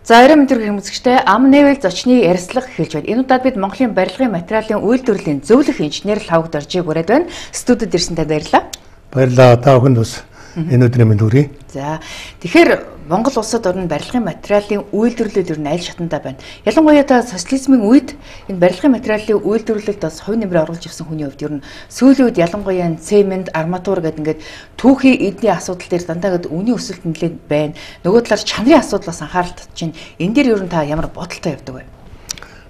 За орой мэдрэг хүмүүжигчтэй ам нээвэл зочны ярилцлага эхэлж байна. Энэ удаад бид Монголын барилгын материалын үйлдвэрлэлийн зөвлөх инженер Лавг Доржийг ураад байна. Студид ирсэнтэй баярлалаа. Баярлалаа. Та бүхэнд бас энэ өдрийн мэнд хүргэе. За тэгэхээр Монгол улсад орны барилгын материалын үйлдвэрлэл ер нь аль шатандаа байна. Ялангуяа та социализмын үед энэ барилгын материалын үйлдвэрлэлд бас хувь нэмрээ оруулж ирсэн хүний хувьд ер нь сүүлийн үед ялангуяа цемент, арматур гэдэг ингээд түүхийн эдний асуудал дээр дандаа гээд үнийн өсөлт нэлээд байна. Нөгөө талаар чанарын асуудлаас анхаарал татж байна. Энэ дээр ер нь та ямар бодолтой явдаг вэ?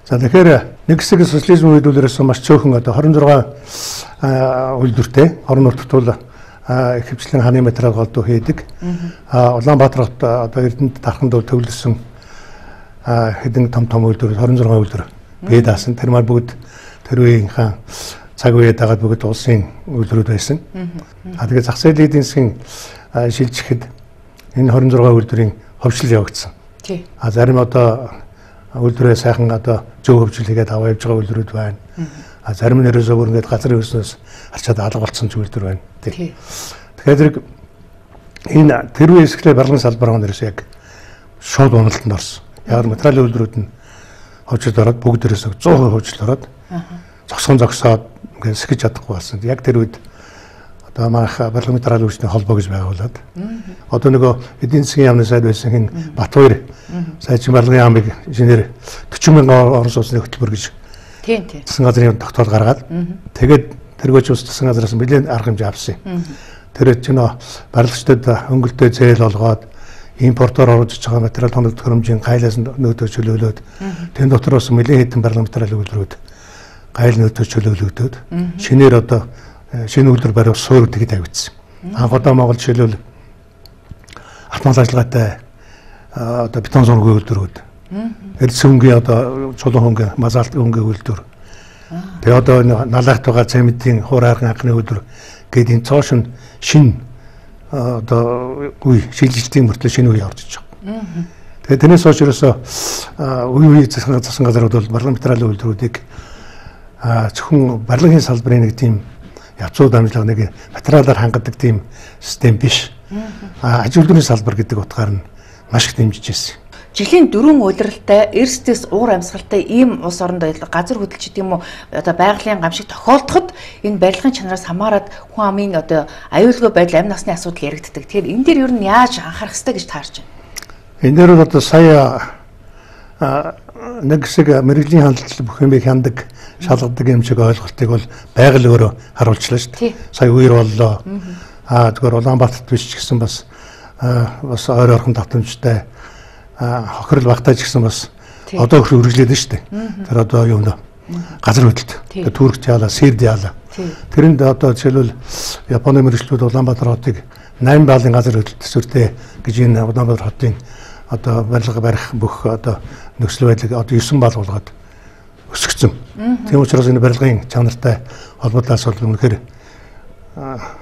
За тэгэхээр нэг хэсэг социализм үйлдвэрлэлээс маш цөөхөн одоо 26 үйлдвэртэй орон нутгад бол хөвчлэн хааны материал голдуу хийдэг. Улаанбаатар хот одоо Эрдэнэт дарханд төвлөрсөн хэдэн том үйлдвэр 26 үйлдвэр бий даасан. Тэр маань бүгд тэр үеийнхаа цаг үеэ дагаад бүгд улсын үйлдвэрүүд байсан. Тэгээд зах зээлийн эдийн засгийн шилжихэд энэ 26 үйлдвэрийн хөгжил явагдсан. Зарим одоо үйлдвэрээ сайхан одоо зөв хөгжил хийгээд аваа явж байгаа үйлдвэрүүд байна. Зарим нь ерөөсөө бүр ингээд газрын хөрснөөс арчаад алга болсон үйлдвэр байна. Тэгэхээр энэ тэр үеэс эхлээд барилгын салбар маань ерөөсөө яг шууд уналтанд орсон. Яг материалын үйлдвэрүүд нь хөгжилд ороод бүгд ерөөсөө 100% хөгжилд ороод зогсоод ингээд сэхэж чадахгүй болсон. Яг тэр үед одоо манайх барилгын материалын үйлчний холбоо гэж байгуулад одоо нөгөө эдийн засгийн яамны сайд байсан хин Батбаяр сайжин барилгын яамыг инженер 40 мянган орон сууцны хөтөлбөр гэж засгийн газрын тогтоол гаргаад тэгээд тэргөөч ус засгийн газраас нэлээд арга хэмжээ авсан. Тэр чинь барилгачдад хөнгөлтөө зээл олгоод импортоор оруулж байгаа материал хоног төхөөрөмжийн гайлаас нөөдөө чөлөөлөөд тэн дотроос нэлээд хэдэн барилгын материалын үйлдвэрүүд гайл нөөдөө чөлөөлөгдөд шинээр одоо шинэ үйлдвэр барих суурь тэгэд тавигдсан. Анх удаа Монгол жишээлбэл автомат ажиллагаатай одоо бетон зургийн үйлдвэрүүд эрдэс хөнгөн одоо чулуун хөнгөн мазалт хөнгөн үйлдвэр. Тэгээ одоо налахт байгаа цементийн хуурайрган анхны үйлдвэр гээд энэ цоош нь шин одоо үе шилжилтийн мөртлөө шинэ үе орж иж байгаа. Тэгээ тэрнээс хойш ерөөсөө үе засгийн газрууд бол барилгын материалын үйлдвэрүүдийг зөвхөн барилгын салбарын нэг тийм явцууд амжилга нэг материалаар хангадаг тийм систем биш. Аж үйлдвэрийн салбар гэдэг утгаар нь маш их дэмжиж ирсэн. Жилийн 4 удиралтай эрсдэс уур амьсгалтай ийм улс оронд газар хөдлөлч гэдэг юм уу одоо байгалийн гамшиг тохиолдоход энэ барилгын чанараас хамаарат хүн амын одоо аюулгүй байдал амь насны асуудал яригддаг. Тэгэхээр энэ дээр ер нь яаж анхаарах хэрэгтэй гэж таарч байна? Энэ дээр одоо сая нэг хэсэг мэрэгжлийн хандлт бүх юмыг хяндаг шалгадаг юм шиг ойлголтыг бол байгаль өөрөө харуулчлаа шүү дээ. Сая үер боллоо. Зүгээр Улаанбаатарт биш ч гэсэн бас ойр орхон давтамжтай хохирол багтааж гисэн бас одоо их үргэлжлээд нь шүү дээ. Тэр одоо юу нэ газар хөдлөлт. Түркч яалаа, Сэрд яалаа. Тэрэнд одоо жишээлбэл Японы мэргэжлүүд Улаанбаатар хотыг 8 баллын газар хөдлөлт төсвөртэй гэж энэ Улаанбаатар хотын одоо барилга барих бүх одоо нөхцөл байдлыг одоо 9 балл болгоод өсгсөн. Тийм учраас энэ барилгын чанартай холбоотой асуудал үнэхээр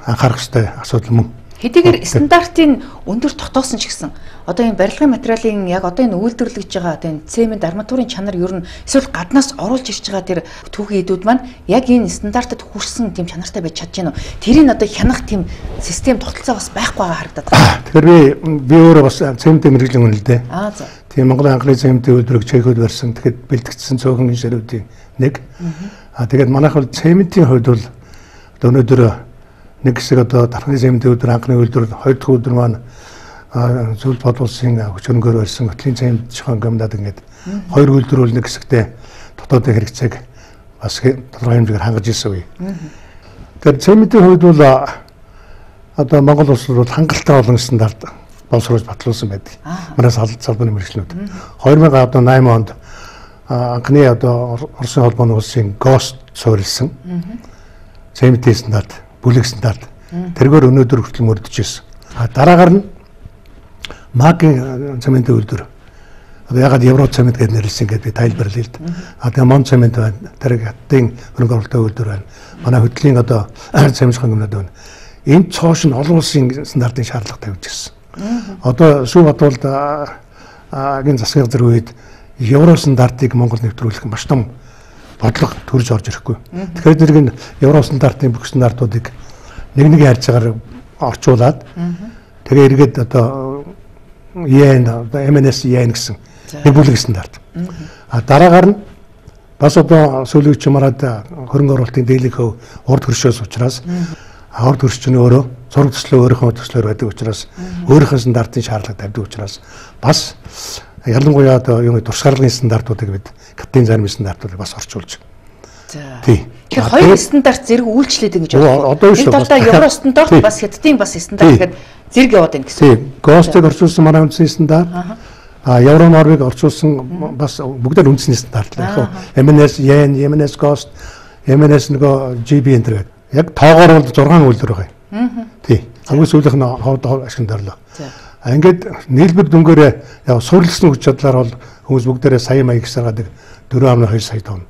анхаарах ёстой асуудал мөн. Хэдийгээр стандартын өндөр тогтоосон ч гэсэн одоо энэ барилгын материалын яг одоо энэ үйлдвэрлэж байгаа одоо энэ цемент арматурын чанар ер нь эсвэл гаднаас оруулж ирж байгаа тэр түүхийн эдүүд маань яг энэ стандартад хүрсэн тийм чанартай байж чадж гэнэ үү? Тэрийг одоо хянах тийм систем тогтолцоо бас байхгүй байгаа харагдаад байна. Тэгэхээр би өөрөө бас цементийн мэргэжлийн хүн л дээ. За. Тийм Монголын анхны цементийн үйлдвэрийг Чехид барьсан. Тэгэхэд бэлтгэгдсэн цөөхөн инженерүүдийн нэг. Тэгээд манайх бол цементийн хувьд бол одоо өнөөдөр нэг хэсэг одоо дархны цементийн үйлдвэр анхны үйлдвэр хоёр дахь үйлдвэр маань зөвлөлт бодлуулсан хүчрөнгөөр барьсан хөтлийн цемент шохон гомдаад ингээд хоёр үйлдвэр бол нэг хэсэгтээ дотоодын хэрэгцээг бас тодорхой хэмжээгээр хангаж ирсэн үе. Тэгэхээр цементийн хувьд бол одоо Монгол улс бол хангалттай олон стандарт боловсруулж батлуулсан байдаг. Манай салбарын мэргэжлүүд 2008 онд анхны одоо Оросын холбооны улсын ГОСТ суурилсан цементийн стандарт, бүлэг стандарт тэргээр өнөөдөр хүртэл мөрдөж ирсэн. Дараагаар нь МАГ-ийн цементийн үйлдвэр. Одоо ягаад Евро цемент гэж нэрлсэн гэдэг тайлбарлая л да. Тэгээ Мон цемент байна. Тэр хаттын хөрөнгө оруулалтын үйлдвэр байна. Манай хөдлийн одоо цемент хөнгөнөд байна. Энэ цоош нь олон улсын стандартын шаардлага тавьж ирсэн. Одоо сүү бодвол агийн засгийн газрын үед Евро стандартыг Монгол нэвтрүүлэх маш том бодлого төрж орж ирэхгүй. Тэгэхээр зэрэг нь Евро стандартын бүх стандартуудыг нэг харьж байгаагаар орчуулад тэгээ эргээд одоо yen MNS yen гэсэн Нэг бүлэг стандарт. Дараагаар нь бас одоо сүүлийн чимараад хөрөнгө оруулалтын дийлэнх хөв урд хөршөөс учраас урд хөрш нь өөрөө зураг төслөө өөрийнхөө төслөөр байдаг учраас өөрийнхөө стандартын шаардлага тавьдаг учраас бас ялангуяа одоо юу туршлагын стандартуудыг бид катын зарим стандартуудыг бас орчуулж. Тий. Тэгэхээр хоёр стандарт зэрэг үйлчлээд ингэж байна. Одоо шүү. Энэ талдаа евро стандарт бас хятадын бас стандарт гэхэд зэрэг яваад байна гэсэн. Тий. ГОСТыг орчуулсан манай үндэсний стандарт. Евро нормыг орчуулсан бас бүгдээр үндэсний стандарт л яг. MNS yen, MNS GOST, MNS нөгөө GB энэ гэдэг. Яг тоогоор бол 6 үйлдвэр байгаа. Тий. Хамгийн сүүлийнх нь ховд ашигладарлаа. Ингээд нийлбэр дүнгээрээ яг суурилсан хүч чадлаар бол хүмүүс бүгдээрээ сая маяг гисаргадаг 4.2 сая тонн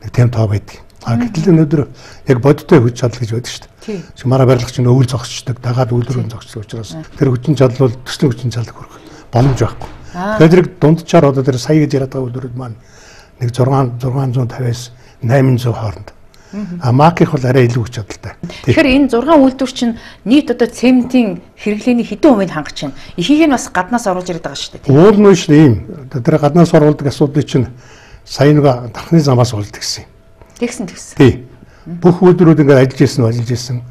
нэг тийм тоо байдаг. Гэтэл өнөөдөр яг бодиттой хүч чадал гэж байдаг шүү дээ. Чи манай барилгач нь өвөл зогсчдаг, дагаад үйлдвэрийн зогсдог учраас тэр хүчин чадал бол төслийн хүчин чадал хүрэх боломж байхгүй. Тэгэхээр тэр дундчаар одоо тэр сая гэж яриад байгаа үйлдвэрүүд маань нэг 650-аас 800 хооронд. Маких бол арай илүү хүч чадалтай. Тэгэхээр энэ 6 үйлдвэр чинь нийт одоо цементийн хэрэглээний хэдэн хувийг хангаж байна? Ихийг нь бас гаднаас оруулж ирээд байгаа шүү дээ. Уул нь шүү ийм. Тэр гаднаас оруулдаг асуудлыг чинь сая нэг дархны замаас олдог гэсэн. Тэгсэн. Тий. Бүх үйлдвэрүүд ингээд ажиллаж ирсэн.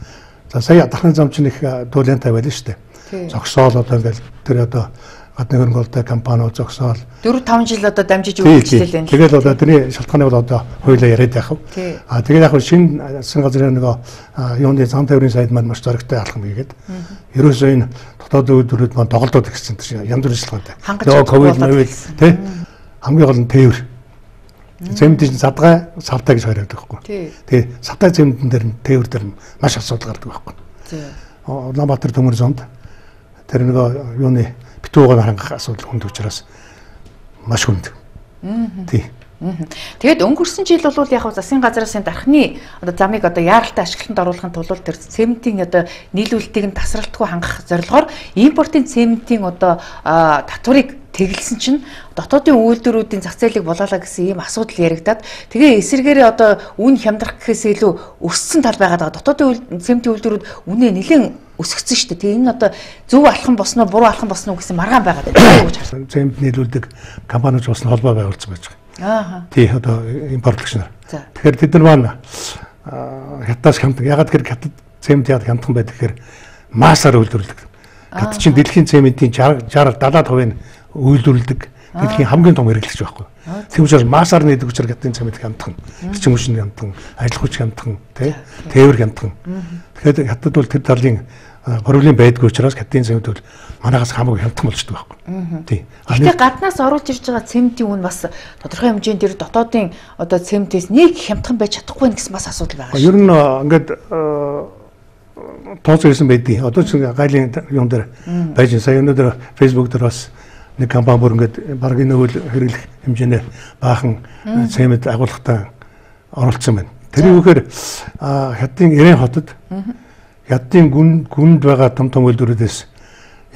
За сая дархны зам чинь их дуулиантай байлаа шүү дээ. Зогсоол одоо ингээд тэр одоо гадны хөрөнгөлтэй компаниуд зогсоол 4-5 жил одоо дамжиж үйлчлэл байна. Тэгээд одоо тэрний шалтгааныг бол одоо хоёулаа яриад яах вэ? Тэгээд яг шинэ засгийн газрын нөгөө юуны зам тээврийн сайд маань маш зоригтой алхам хийгээд ерөөсөө энэ дотоод үйлдвэрүүд маань тоглолтод гэсэн чинь янз бүрийн шалтгаантай. Нөгөө ковид тий хамгийн гол нь тээвэр. Цементийн савтай гэж харагддаг байхгүй. Тэгээ савтай цементэн дээр нь тээвэр дээр маш асуудал гардаг байхгүй. Улаанбаатар төмөр зонд тэр нөгөө юуны битүүгээр хангах асуудал хүнд учраас маш хүнд. Тий. Тэгээд өнгөрсөн жил бол яг засгийн газраас дархны одоо замыг одоо яаралтай ашиглалтанд оруулахын тулд тэр цементийн одоо нийлүүлэлтийг нь тасралтгүй хангах зорилгоор импортын цементийн одоо татварыг тэглэсэн чинь дотоодын үйлдвэрүүдийн зах зээлийг болоолаа гэсэн ийм асуудал яригадаад тэгээ эсэргээрээ одоо үн хямдрах гэхээс илүү өссөн тал байгаад байгаа. Дотоодын цементийн үйлдвэрүүд үнэ нэлээд өсгсөн шүү дээ. Тэгээ энэ одоо зөв алхам босноо буруу алхам босноо гэсэн маргаан байгаад байна гэж харсан. Цемент нийлүүлдэг компаниуд бас холбоо байгуулсан байж байгаа. Тий одоо импортлагч нар. Тэгэхээр тэд нар маань хятадас хямдхан ягаад гэхээр хятад цемент яад хямдхан байдаг гэхээр маасаар үйлдвэрлэдэг. Хятад чинь дэлхийн цементийн 60-70% үйлдвэрлэдэг дэлхийн хамгийн том хэрэглэгч байхгүй. Тийм учраас маасаар нээдэг учраас хятадын цемент хямдхан, эрчим хүчний хямдхан, ажил хүч хямдхан, тээвэр хямдхан. Тэгэхээр хятад бол тэр талын проблем байдгүй учраас хятадын цемент бол манайхаас хамаагүй хямдхан болчдөг байхгүй. Тийм. Гэхдээ гаднаас оруулж ирж байгаа цементийн үн бас тодорхой хэмжээнд тэр дотоодын одоо цементээс нэг хямдхан байж чадахгүй гэсэн бас асуудал байгаа шүү. Ер нь ингээд тооцоо ирсэн байдгийг одоо ч гайлын юм дээр байж сая өнөөдөр фэйсбүүк дээр бас нэг компани бүр ингээд баг энэ үйл хэрэглэх хэмжээний баахан цемент агуулгатай оролцсон байна. Тэр үгээр хятадын Ирэн хотод хятадын гүнд байгаа том үйлдвэрүүдээс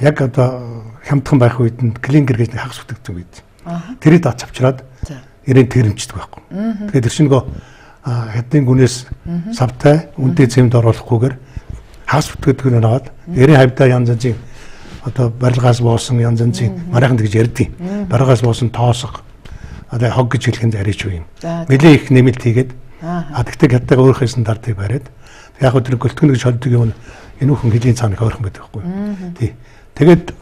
яг одоо хямдхан байх үед нь клинкер гэж хагас бүтэгдсэн үед. Тэрийг дац авчираад Ирэн тэрэмждэг байхгүй. Тэгэхээр тэр чинь нөгөө хятадын гүнээс савтай үнэтэй цемент оруулахгүйгээр хагас бүтэгдэхүүнээр аваад Ирэн хавьдаа янз янзын одоо барилгаас боосон янз янзын манайхан гэж ярьдیں۔ Барилгаас боосон тоосго одоо хог гэж хэлхэн арич юу юм. Нэлээ их нэмэлт хийгээд тэгтээ хятадаа өөрийнхөө стандартыг бариад яг хөө тэр гөлтгөн гэж холдог юм энэ бүхэн хэлийн цааныг ойрхон байдаг байхгүй. Тий. Тэгээд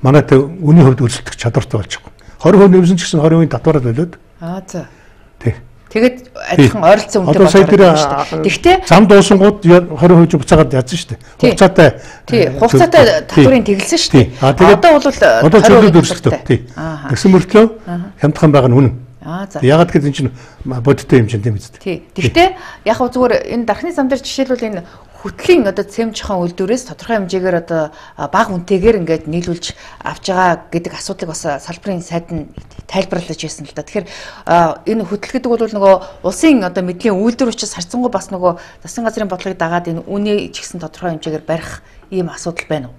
манайтай үний хувьд өрсөлдөх чадвартай болж байгаа. 20% нэмсэн ч гэсэн 20% татвараад болоод. За. Тий. Тэгээд адилхан ойролцоо үнэтэй болоод байна шүү дээ. Тэгтээ зам дуусангууд 20% буцаагаад ядсан шүү дээ. Хугацаатай. Тий, хугацаатай татврын тэглэсэн шүү дээ. Одоо бол зөвлөд өрсөлдөө. Тий. Тэгсэн мөртлөө хямдхан байгаа нь үнэн. Ягаад гэвэл энэ чинь бодиттой юм чинь тийм биз дээ. Тий. Гэхдээ яг хөө зүгээр энэ дархны зам дээр жишээлбэл энэ хөтлийн одоо цемчхон үйлдвэрээс тодорхой хэмжээгээр одоо бага үнэтэйгээр ингээд нийлүүлж авч байгаа гэдэг асуудлыг бас салбарын сайд нь тайлбарлаж байсан л да. Тэгэхээр энэ хөтөл гэдэг бол нөгөө улсын одоо мэдлийн үйлдвэр учраас харьцангуй бас нөгөө засгийн газрын бодлогыг дагаад энэ үнэ ч гэсэн тодорхой хэмжээгээр барих ийм асуудал байна уу?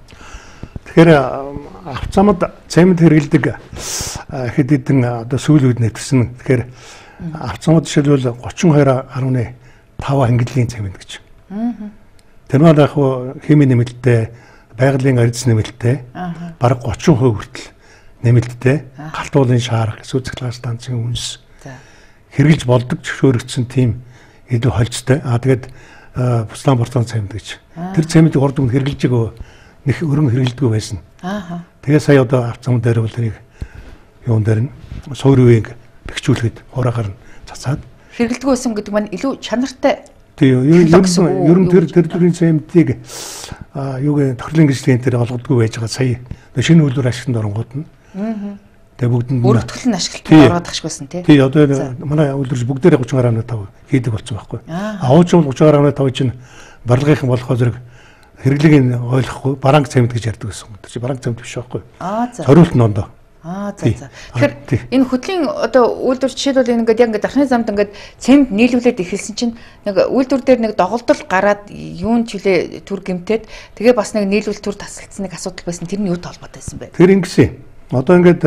Тэгэхээр авцамд цемент хэрэглэдэг хэд хэдэн одоо сүүл үед нэвтэрсэн. Тэгэхээр авцамд жишээлбэл 32.5 ангилын цемент гэж. Тэр маань яг химийн нэмэлттэй, байгалийн арьс нэмэлттэй бараг 30% хүртэл нэмэлттэй галтуулын шаар, сүүцэглэгээ станцын үнс хэрэгжилж болдог зөвшөөрөгдсөн тийм илүү холцтой. Тэгээд буслан бортон цемент гэж. Тэр цементийг урд өмнө хэрэгжилж байгаа нэг өргөн хэрэгжилдэггүй байсан. Тэгээ сая одоо авцсан дээр бол тэрийг юун дээр нь суур үеийг бэхжүүлэхэд хураахаар нь цацаад хэрэгэлдэггүй байсан гэдэг маань илүү чанартай. Тийм ер нь тэр төрлийн цементийг юуг тохирлын гэрчлэгийн дээр олгодгүй байж байгаа сая шинэ үйлдвэр ашиглалтанд оронгууд нь. Тэгээ бүгдэнд бүртгэл нь ашиглалтанд ороод ахш байсан тий. Тий одоо манай үйлдвэрч бүгдээрээ 30.5 хийдэг болсон байхгүй. Авууч бол 30.5 чинь барилгынхан болохоо зэрэг хэрэглэгийг ойлгохгүй баранг цемент гэж ярьдаг гэсэн. Тэр чинь баранг цемент биш байхгүй. Зориулт нь ондоо. За. Тэгэхээр энэ хөтлийн одоо үйлдвэр жишээлбэл энэ ингээд яг ингээд дархны замд ингээд цемент нийлүүлээд эхэлсэн чинь нэг үйлдвэр дээр нэг доголдол гараад юун ч үлээ түр гэмтээд тэгээ бас нэг нийлүүл түр тасалдсан нэг асуудал байсан. Тэр нь юутай холбоотой байсан бэ? Тэр ингэсэн. Одоо ингээд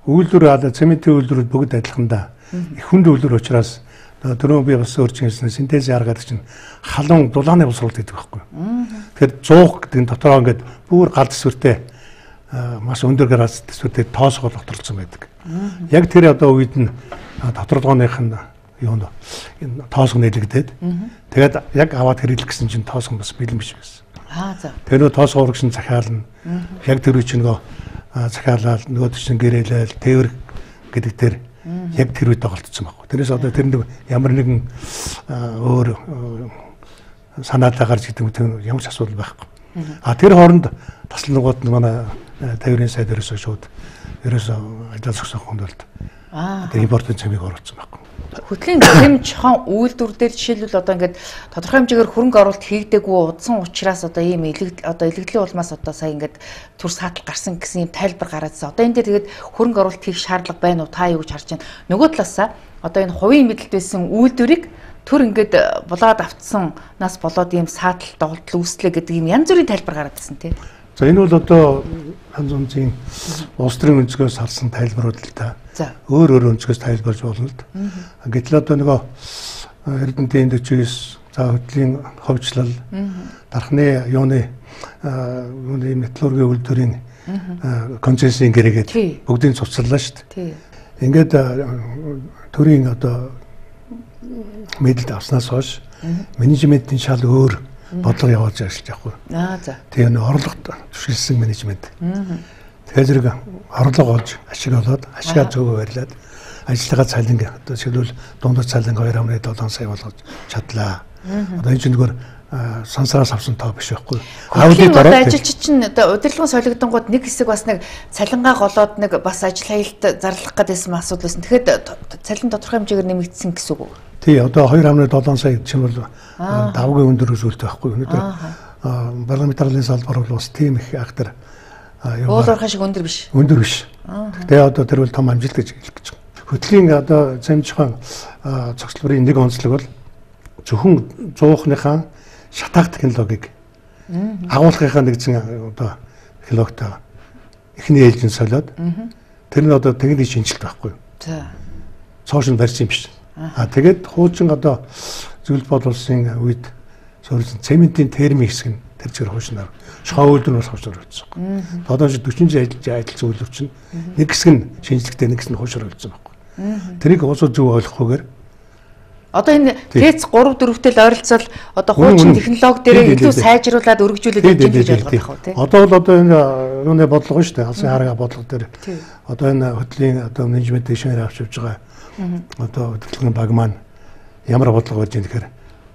үйлдвэр цементийн үйлдвэрүүд бүгд адилхан да. Их хүнд үйлдвэр учраас түрүү би бас өөрчн хэлсэн синтезийн арга гэдэг чинь халуун дулааны боловсруулалт гэдэг байхгүй. Тэгэхээр 100 гэдэг нь дотороо ингээд бүр гал төсвөртэй маш өндөр градус төсвөртэй тоосгол доторлцсон байдаг. Яг тэр одоо үед нь доторлогооных нь юунд тоосго нэлэгдээд тэгээд яг аваад хэрэглэх гэсэн чинь тоосго бас бэлэн биш байсан. За. Тэр нөө тоосго урагшин захиална. Яг тэр үе чинь нөгөө захиалал нөгөө чинь гэрээлэл тээвэр гэдэг тэр яг тэр үед тоглолцсон байхгүй. Тэрээс одоо тэр ямар нэгэн өөр санаатай гарч гэдэг ямар ч асуудал байхгүй. Тэр хооронд таслангууд манай тээврийн сайд ерөөсөө шууд ерөөсөө ажил зохисон хөндлөлт. Тэр импортын цемийг оруулсан байхгүй. Хөтлийн цэм чохон үйлдвэр дээр жишээлбэл одоо ингээд тодорхой хэмжээгээр хөрөнгө оруулалт хийгдэггүй удсан учраас одоо ийм илэгдлийн улмаас одоо сая ингээд түр саатал гарсан гэсэн юм тайлбар гараадсан. Одоо энэ дээр тэгээд хөрөнгө оруулалт хийх шаардлага байна уу та юу гэж харж байна. Нөгөө талаасаа одоо энэ хувийн мэдэлд байсан үйлдвэрийг төр ингээд булаад автсан нас болоод ийм саатал доголдол үүслээ гэдэг юм янз бүрийн тайлбар гараадсан тий. За энэ бол одоо янз бүрийн улс төрийн өнцгөөс харсан тайлбарууд л та. Өөр өнцгөөс тайлбарж болно л д. Гэтэл одоо нөгөө Эрдэнэтийн 49 за хөтлийн ховчлал дархны юуны металлургийн үйлдвэрийн концессийн гэрээгээд бүгдийг цуцлаа шүү дээ. Ингээд төрийн одоо мэдэлд авснаас хойш менежментийн шал өөр бодлого явуулж ажиллаж байхгүй. За. Тэгээ нэг орлогот түшгэлсэн менежмент. Тэгэхээр зэрэг орлого олж ашиг олоод ашигаа зөв барьлаад ажиллагаа цалин одоо шилбэл дундад цалин 2.7 сая болгож чадлаа. Одоо энэ чинь зүгээр сансараас авсан тоо биш байхгүй. Аудит ажилч чинь одоо удирдлагын солигдонгууд нэг хэсэг бас нэг цалингаа голоод нэг бас ажил хаялт зарлах гэдээсэн асуудал байсан. Тэгэхээр цалин тодорхой хэмжээгээр нэмэгдсэн гэсэн үг үү? Тий, одоо 2.7 сая чинь бол давгийн өндөр үзүүлэлт байхгүй. Өнөөдөр парламентарын салбар бол бас тийм их актер уулуурхай шиг өндөр биш. Өндөр биш. Гэхдээ одоо тэр бол том амжилт гэж хэлэх гэж байна. Хөтлийн одоо цамжхан цогцлбарын нэг онцлог бол зөвхөн 100-ныхаа шатаах технологиг агуулгынхаа нэгэн одоо технологитой эхний ээлжин солиод тэр нь одоо техникийн шинжилт байхгүй. За. Цоошин барьсан юм биш. Тэгээд хуучин одоо зөвлөлт боловсон үед суурьсан цементийн термик хэсэг нь тэр чигээр хуучнаар шоу үйлдвэрнээс хуучнаар өгсөн. Одоо 40 жил ажилласан үйлдвэр чинь нэг хэсэг нь шинжлэхтэй нэг хэсэг нь хуучнаар өгсөн байхгүй. Тэрийг уусаа зөв ойлгохгүйгээр одоо энэ ТЭЦ 3-4-тэй л ойролцоол одоо хуучин технологи дээр илүү сайжруулад өргөжүүлээд явж байгаа гэж ойлгох байх тийм. Одоо бол одоо энэ юуны бодлого шүү дээ. Алсын харгаа бодлого дээр одоо энэ хөтлийн одоо менежмент дэшнээр авч явж байгаа одоо хөтөлбөрийн баг маань ямар бодлого болж байгаа гэхээр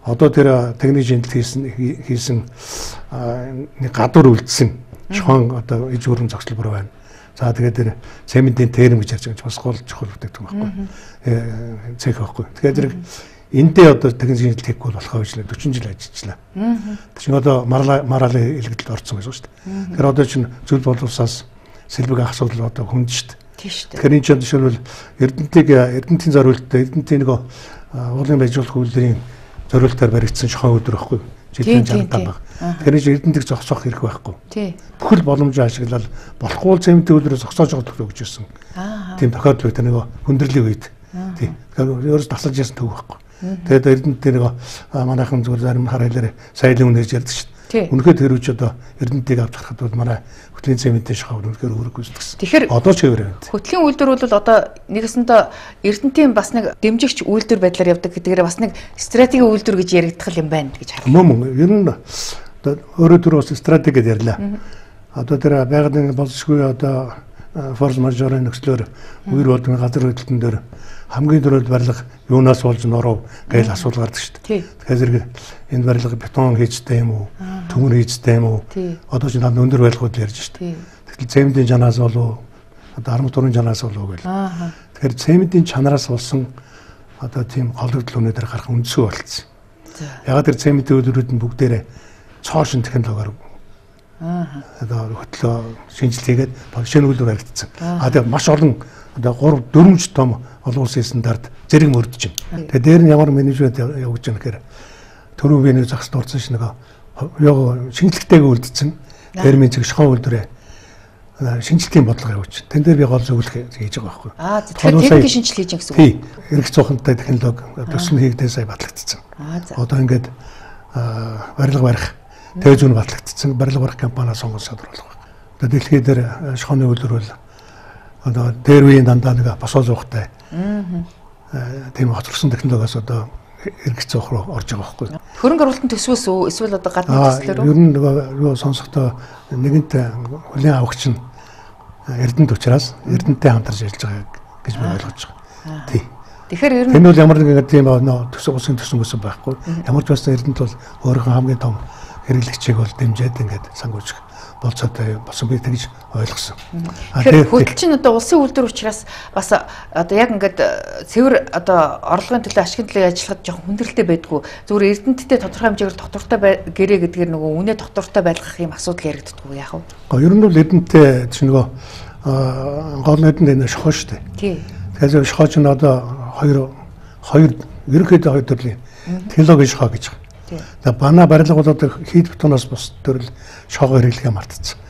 одоо тэр техник шинжилт хийсэн нэг гадуур үлдсэн чохон одоо иж өргөн зогсолбор байна. За тэгээд тэр цементийн терм гэж ярьж байгаа бас гол чухал бүтээгдэхүүн байхгүй. Цэх байхгүй. Тэгэхээр зэрэг энэдээ одоо техник шинжилт хийхгүй болохоо гэж 40 жил ажиллажлаа. Тэр чинь одоо маргаалын илэгдэлд орсон гэсэн шүү дээ. Тэгэхээр одоо чинь зүйл боловсроос сэлбэг ах асуудал одоо хүнд шүү дээ. Тийм шүү дээ. Тэгэхээр энэ чинь жишээлбэл Эрдэнэтийн зориулттай Эрдэнэтийн нэг уулын байжуулах үйлдвэрийн зориултаар баригдсан шохон өдөр байхгүй. Жилийн 65 баг. Тэгэхээр Эрдэнэтийг зогсоох хэрэг байхгүй. Бүхэл боломжоо ашиглаад болохгүй цементийн үйлдвэрээ зогсоож байгаа төлөө гэж байсан. Тийм тохиолдол тэр нэг хүндрэлийн үед. Тийм. Тэгэхээр өөрөөс тасалж яасан төв байхгүй. Тэгээд Эрдэнэтийн нэг манайхан зүгээр зарим харайлаар сайлын үнэ гэж ярьдаг шүү дээ. Үнэхээр тэр үуч одоо Эрдэнэтийг авч харахад бол манай хөтлийн цементийн шахав үнэхээр өөрөг гүйцэтгсэн. Тэгэхээр одоо ч хэвээр байна. Хөтлийн үйлдвэр бол одоо нэгэсэндээ Эрдэнэтийн бас нэг дэмжигч үйлдвэр байдлаар явдаг гэдгээр бас нэг стратегийн үйлдвэр гэж яригдах юм байна гэж харах. Мөн ер нь өөрөө түр бас стратеги гэдээ ярьлаа. Одоо тэр байгалийн боловсгүй одоо форс мажорын нөхцлөөр үер болдгийн газар хөдлөлтөн дээр хамгийн түрүүнд барилга юунаас болж норов гэж асуулт гардаг шүү дээ. Тэгэхээр энэ барилга бетон хийжтэй юм уу? Төмөр хийжтэй юм уу? Одоо ч над өндөр барилгууд ярьж шүү дээ. Тэгэхээр цементийн чанаас болов одоо арматурын чанаас болов гэл. Тэгэхээр цементийн чанараас болсон одоо тийм голөгдөл өнөдөр гарах үндсүү болцсон. Ягаад тэр цементийн үйлдвэрүүд нь бүгдээрээ цоошин технологиор одоо хөтлөө шинжилгээгээд шинэ үйлдвэр харагдсан. Тэгээ маш олон одоо 3-4 том олон улсын стандарт зэрэг мөрдөж байна. Тэгээ дээр нь ямар менежмент явуулж байгаа гэхээр төрийн биений загас дурдсан шиг нэг шинжилгээтэйг үлдсэн термин зэг шохоо үйлдвэрээ шинжилгээний бодлого явуулж. Тэн дээр би гол зөвлөх хийж байгаа байхгүй. Тэгэхээр техникийн шинжилгээ хийж гэсэн үг. Тий. Эрх зүйнтэй технологи төсөл хийгдээ сая батлагдсан. Одоо ингээд барилга барих тээ зүүн батлагдсан барилга барих компаниа сонгож шалруулах. Одоо дэлхийд дээр шохооны үйлдвэр бол одоо дээр үеийн дандаа нэг босоо зуухтай. Тийм хоцорсон технологиос одоо эрх зүйх руу орж байгаа байхгүй. Хөрөнгө оруулалтын төсвөөс үү эсвэл одоо гадны төслөөр үү? Ер нь нөгөө сонсохдоо нэгэнт хүлээн авахч нь Эрдэнэт учраас Эрдэнэтэй хамтарч ажиллаж байгаа гэж би ойлгож байгаа. Тий. Тэгэхээр ер нь энэ бол ямар нэгэн тийм төсөв усын төсөнгөөс байхгүй. Ямар ч байсан Эрдэнэт бол өөрийнхөө хамгийн том хэрэглэгчийг бол дэмжиж ингээд сангуулж болцоотой болсон би тэгж ойлгосон. Тэгэхээр хөдөлч нь одоо улсын үйлдвэр учраас бас одоо яг ингээд цэвэр одоо орлогын төлөө ашигын төлөө ажиллахад жоохон хүндрэлтэй байдгүй. Зүгээр Эрдэнэттэй тодорхой хэмжээгээр доктортой гэрээ гэдгээр нөгөө үнэ доктортой байлгах юм асуудал яригддаггүй яах вэ? Ер нь бол Эрдэнэттэй чинь нөгөө гол Эрдэнэт энэ шохоо шүү дээ. Тий. Тэгэхээр шохоо чинь одоо хоёр ерөнхийдөө хоёр төрлийн технологи шохоо гэж байна. За бана барилга бол одоо хийд бетоноос бус төрөл шохоо хэрэглэхээ мартцсан.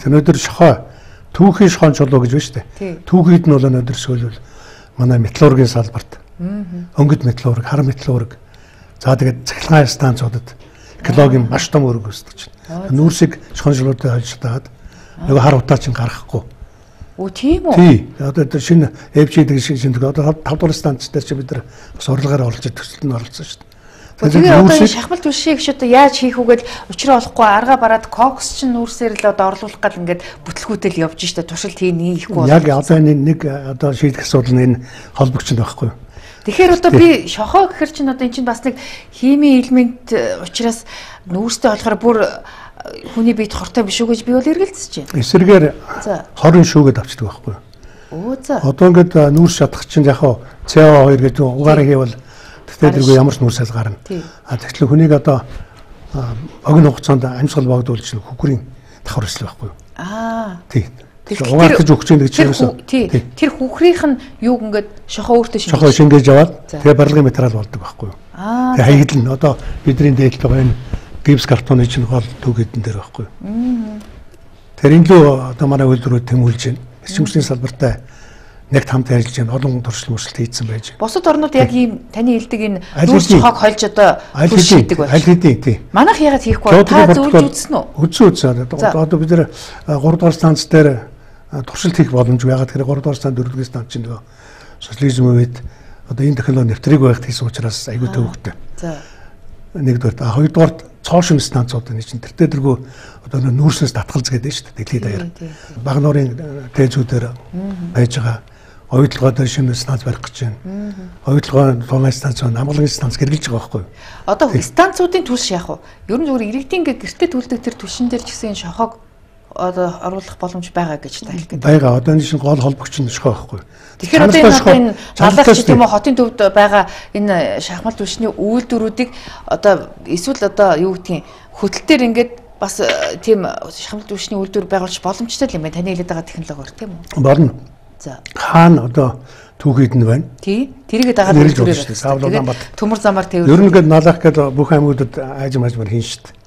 Өнөөдөр шохоо түүхийн шохоон чулуу гэж байна шүү дээ. Түүхийд нь бол өнөөдөр сүүлвэл манай металлургийн салбарт өнгөт металлург, хар металлург за тэгээд цахилгаан станцуудад экологийн маш том үүрэг үүсгэж байна. Нүүрсийг шохоон чулуутай холж таад нөгөө хар утаа чинь гаргахгүй. Оо тийм үү? Тий. Одоо шинэ FG-дэг шинэ одоо 5 дугаар станц дээр чи бид нар бас урилгаар олж төсөлд нь оролцсон шүү дээ. Тэгээ одоо шахмал түлшийг ч одоо яаж хийх үгээд учраа олохгүй арга бараад кокс ч нүүрсээр л одоо орлуулах гал ингээд бүтлгүүтэл явж штэ туршилт хийхгүй бол яг одоо нэг одоо шийдэх асуудал нь энэ холбогч нь байхгүй юу. Тэгэхээр одоо би шохоо гэхэр чинь одоо эн чинь бас нэг химийн элемент учраас нүүрстэй болохоор бүр хүний биед хортой биш үү гэж би бол эргэлзэж байна. Эсрэгээр хорин шүүгээд авчдаг байхгүй юу. Оо за. Одоо ингээд нүүрс шатах чинь яг CO2 гэдэг угаараа хийвэл тэргүй ямар ч нүрсэл гарна. Тэгэхээр хүнийг одоо богино хугацаанд амьсгал богдуулж хүкрийн давхар өсөл байхгүй юу? Тий. Угаартаж өгч юм гэж хэлсэн. Тэр хүкрийнх нь юу ингээд шохоо өөртөө шингээж. Шохоо шингээж аваад тэгээ барилгын материал болдог байхгүй юу? Тэгээ хаягдл нь одоо бидний дээдлж байгаа энэ гипс картоны чинь гол төгөдөн дээр байхгүй юу? Тэр энэ лөө одоо манай үйлдвэрүүд тэмүүлж байна. Эрчимчлийн салбартай нэг хамт ажиллаж байна. Олон туршил мөрсөлт хийсэн байж. Бусад орнууд яг ийм таны хэлдэг энэ нүүрс шохоог холж одоо туршилдаг байна. Аль хэдийн тий. Манайх ягаад хийхгүй та зөвлөж үзсэн үү? Үзсэн. Одоо бид нэр 3 дугаар станц дээр туршилт хийх боломжгүй. Ягаад гэхээр 3 дугаар станц 4 дугаар станц чинь нөгөө социализм үед одоо энэ технологи нэвтрийг байхад хийсэн учраас айгүй төвөгтэй. За. Нэгдүгээр, хоёрдугаар цоошин станцууд энэ чинь тэр дэргүү одоо нүүрснээс татгалз гэдэг нь шүү дээ. Дэлхийд даяар. Баг нуурын тээзүүдээр байж байгаа оюутлогоо дээр шинэ станц барих гэж байна. Оюутлогоо тулгын станц, амгалан станц гэргэлж байгаа байхгүй юу? Одоо станцуудын түлш яах вэ? Ер нь зүгээр иргэдийн гэртээ төлдөг тэр түлшин дээр ч гэсэн шохоог одоо оруулах боломж байгаа гэж та хэлэх гэдэг. Байгаа. Одоо энэ шинэ гол холбогч нь шохоо байхгүй юу? Тэгэхээр одоо энэ наллагч тийм үү хотын төвд байгаа энэ шахмал түлшний үйлдвэрүүдийг одоо эсвэл одоо юу гэдгийг хөтөлтөр ингээд бас тийм шахмал түлшний үйлдвэр байгуулж боломжтой юм байна. Таны хэлээд байгаа технологиор тийм үү? Болно. За. Хаана одоо түүхийд нь байна. Тий. Тэрийгээ дагаад үйлдвэрээр байна. Төмөр замаар тэвэр. Ер нь гээд налах гээд бүх аймагуудад аажим хийн шүү дээ.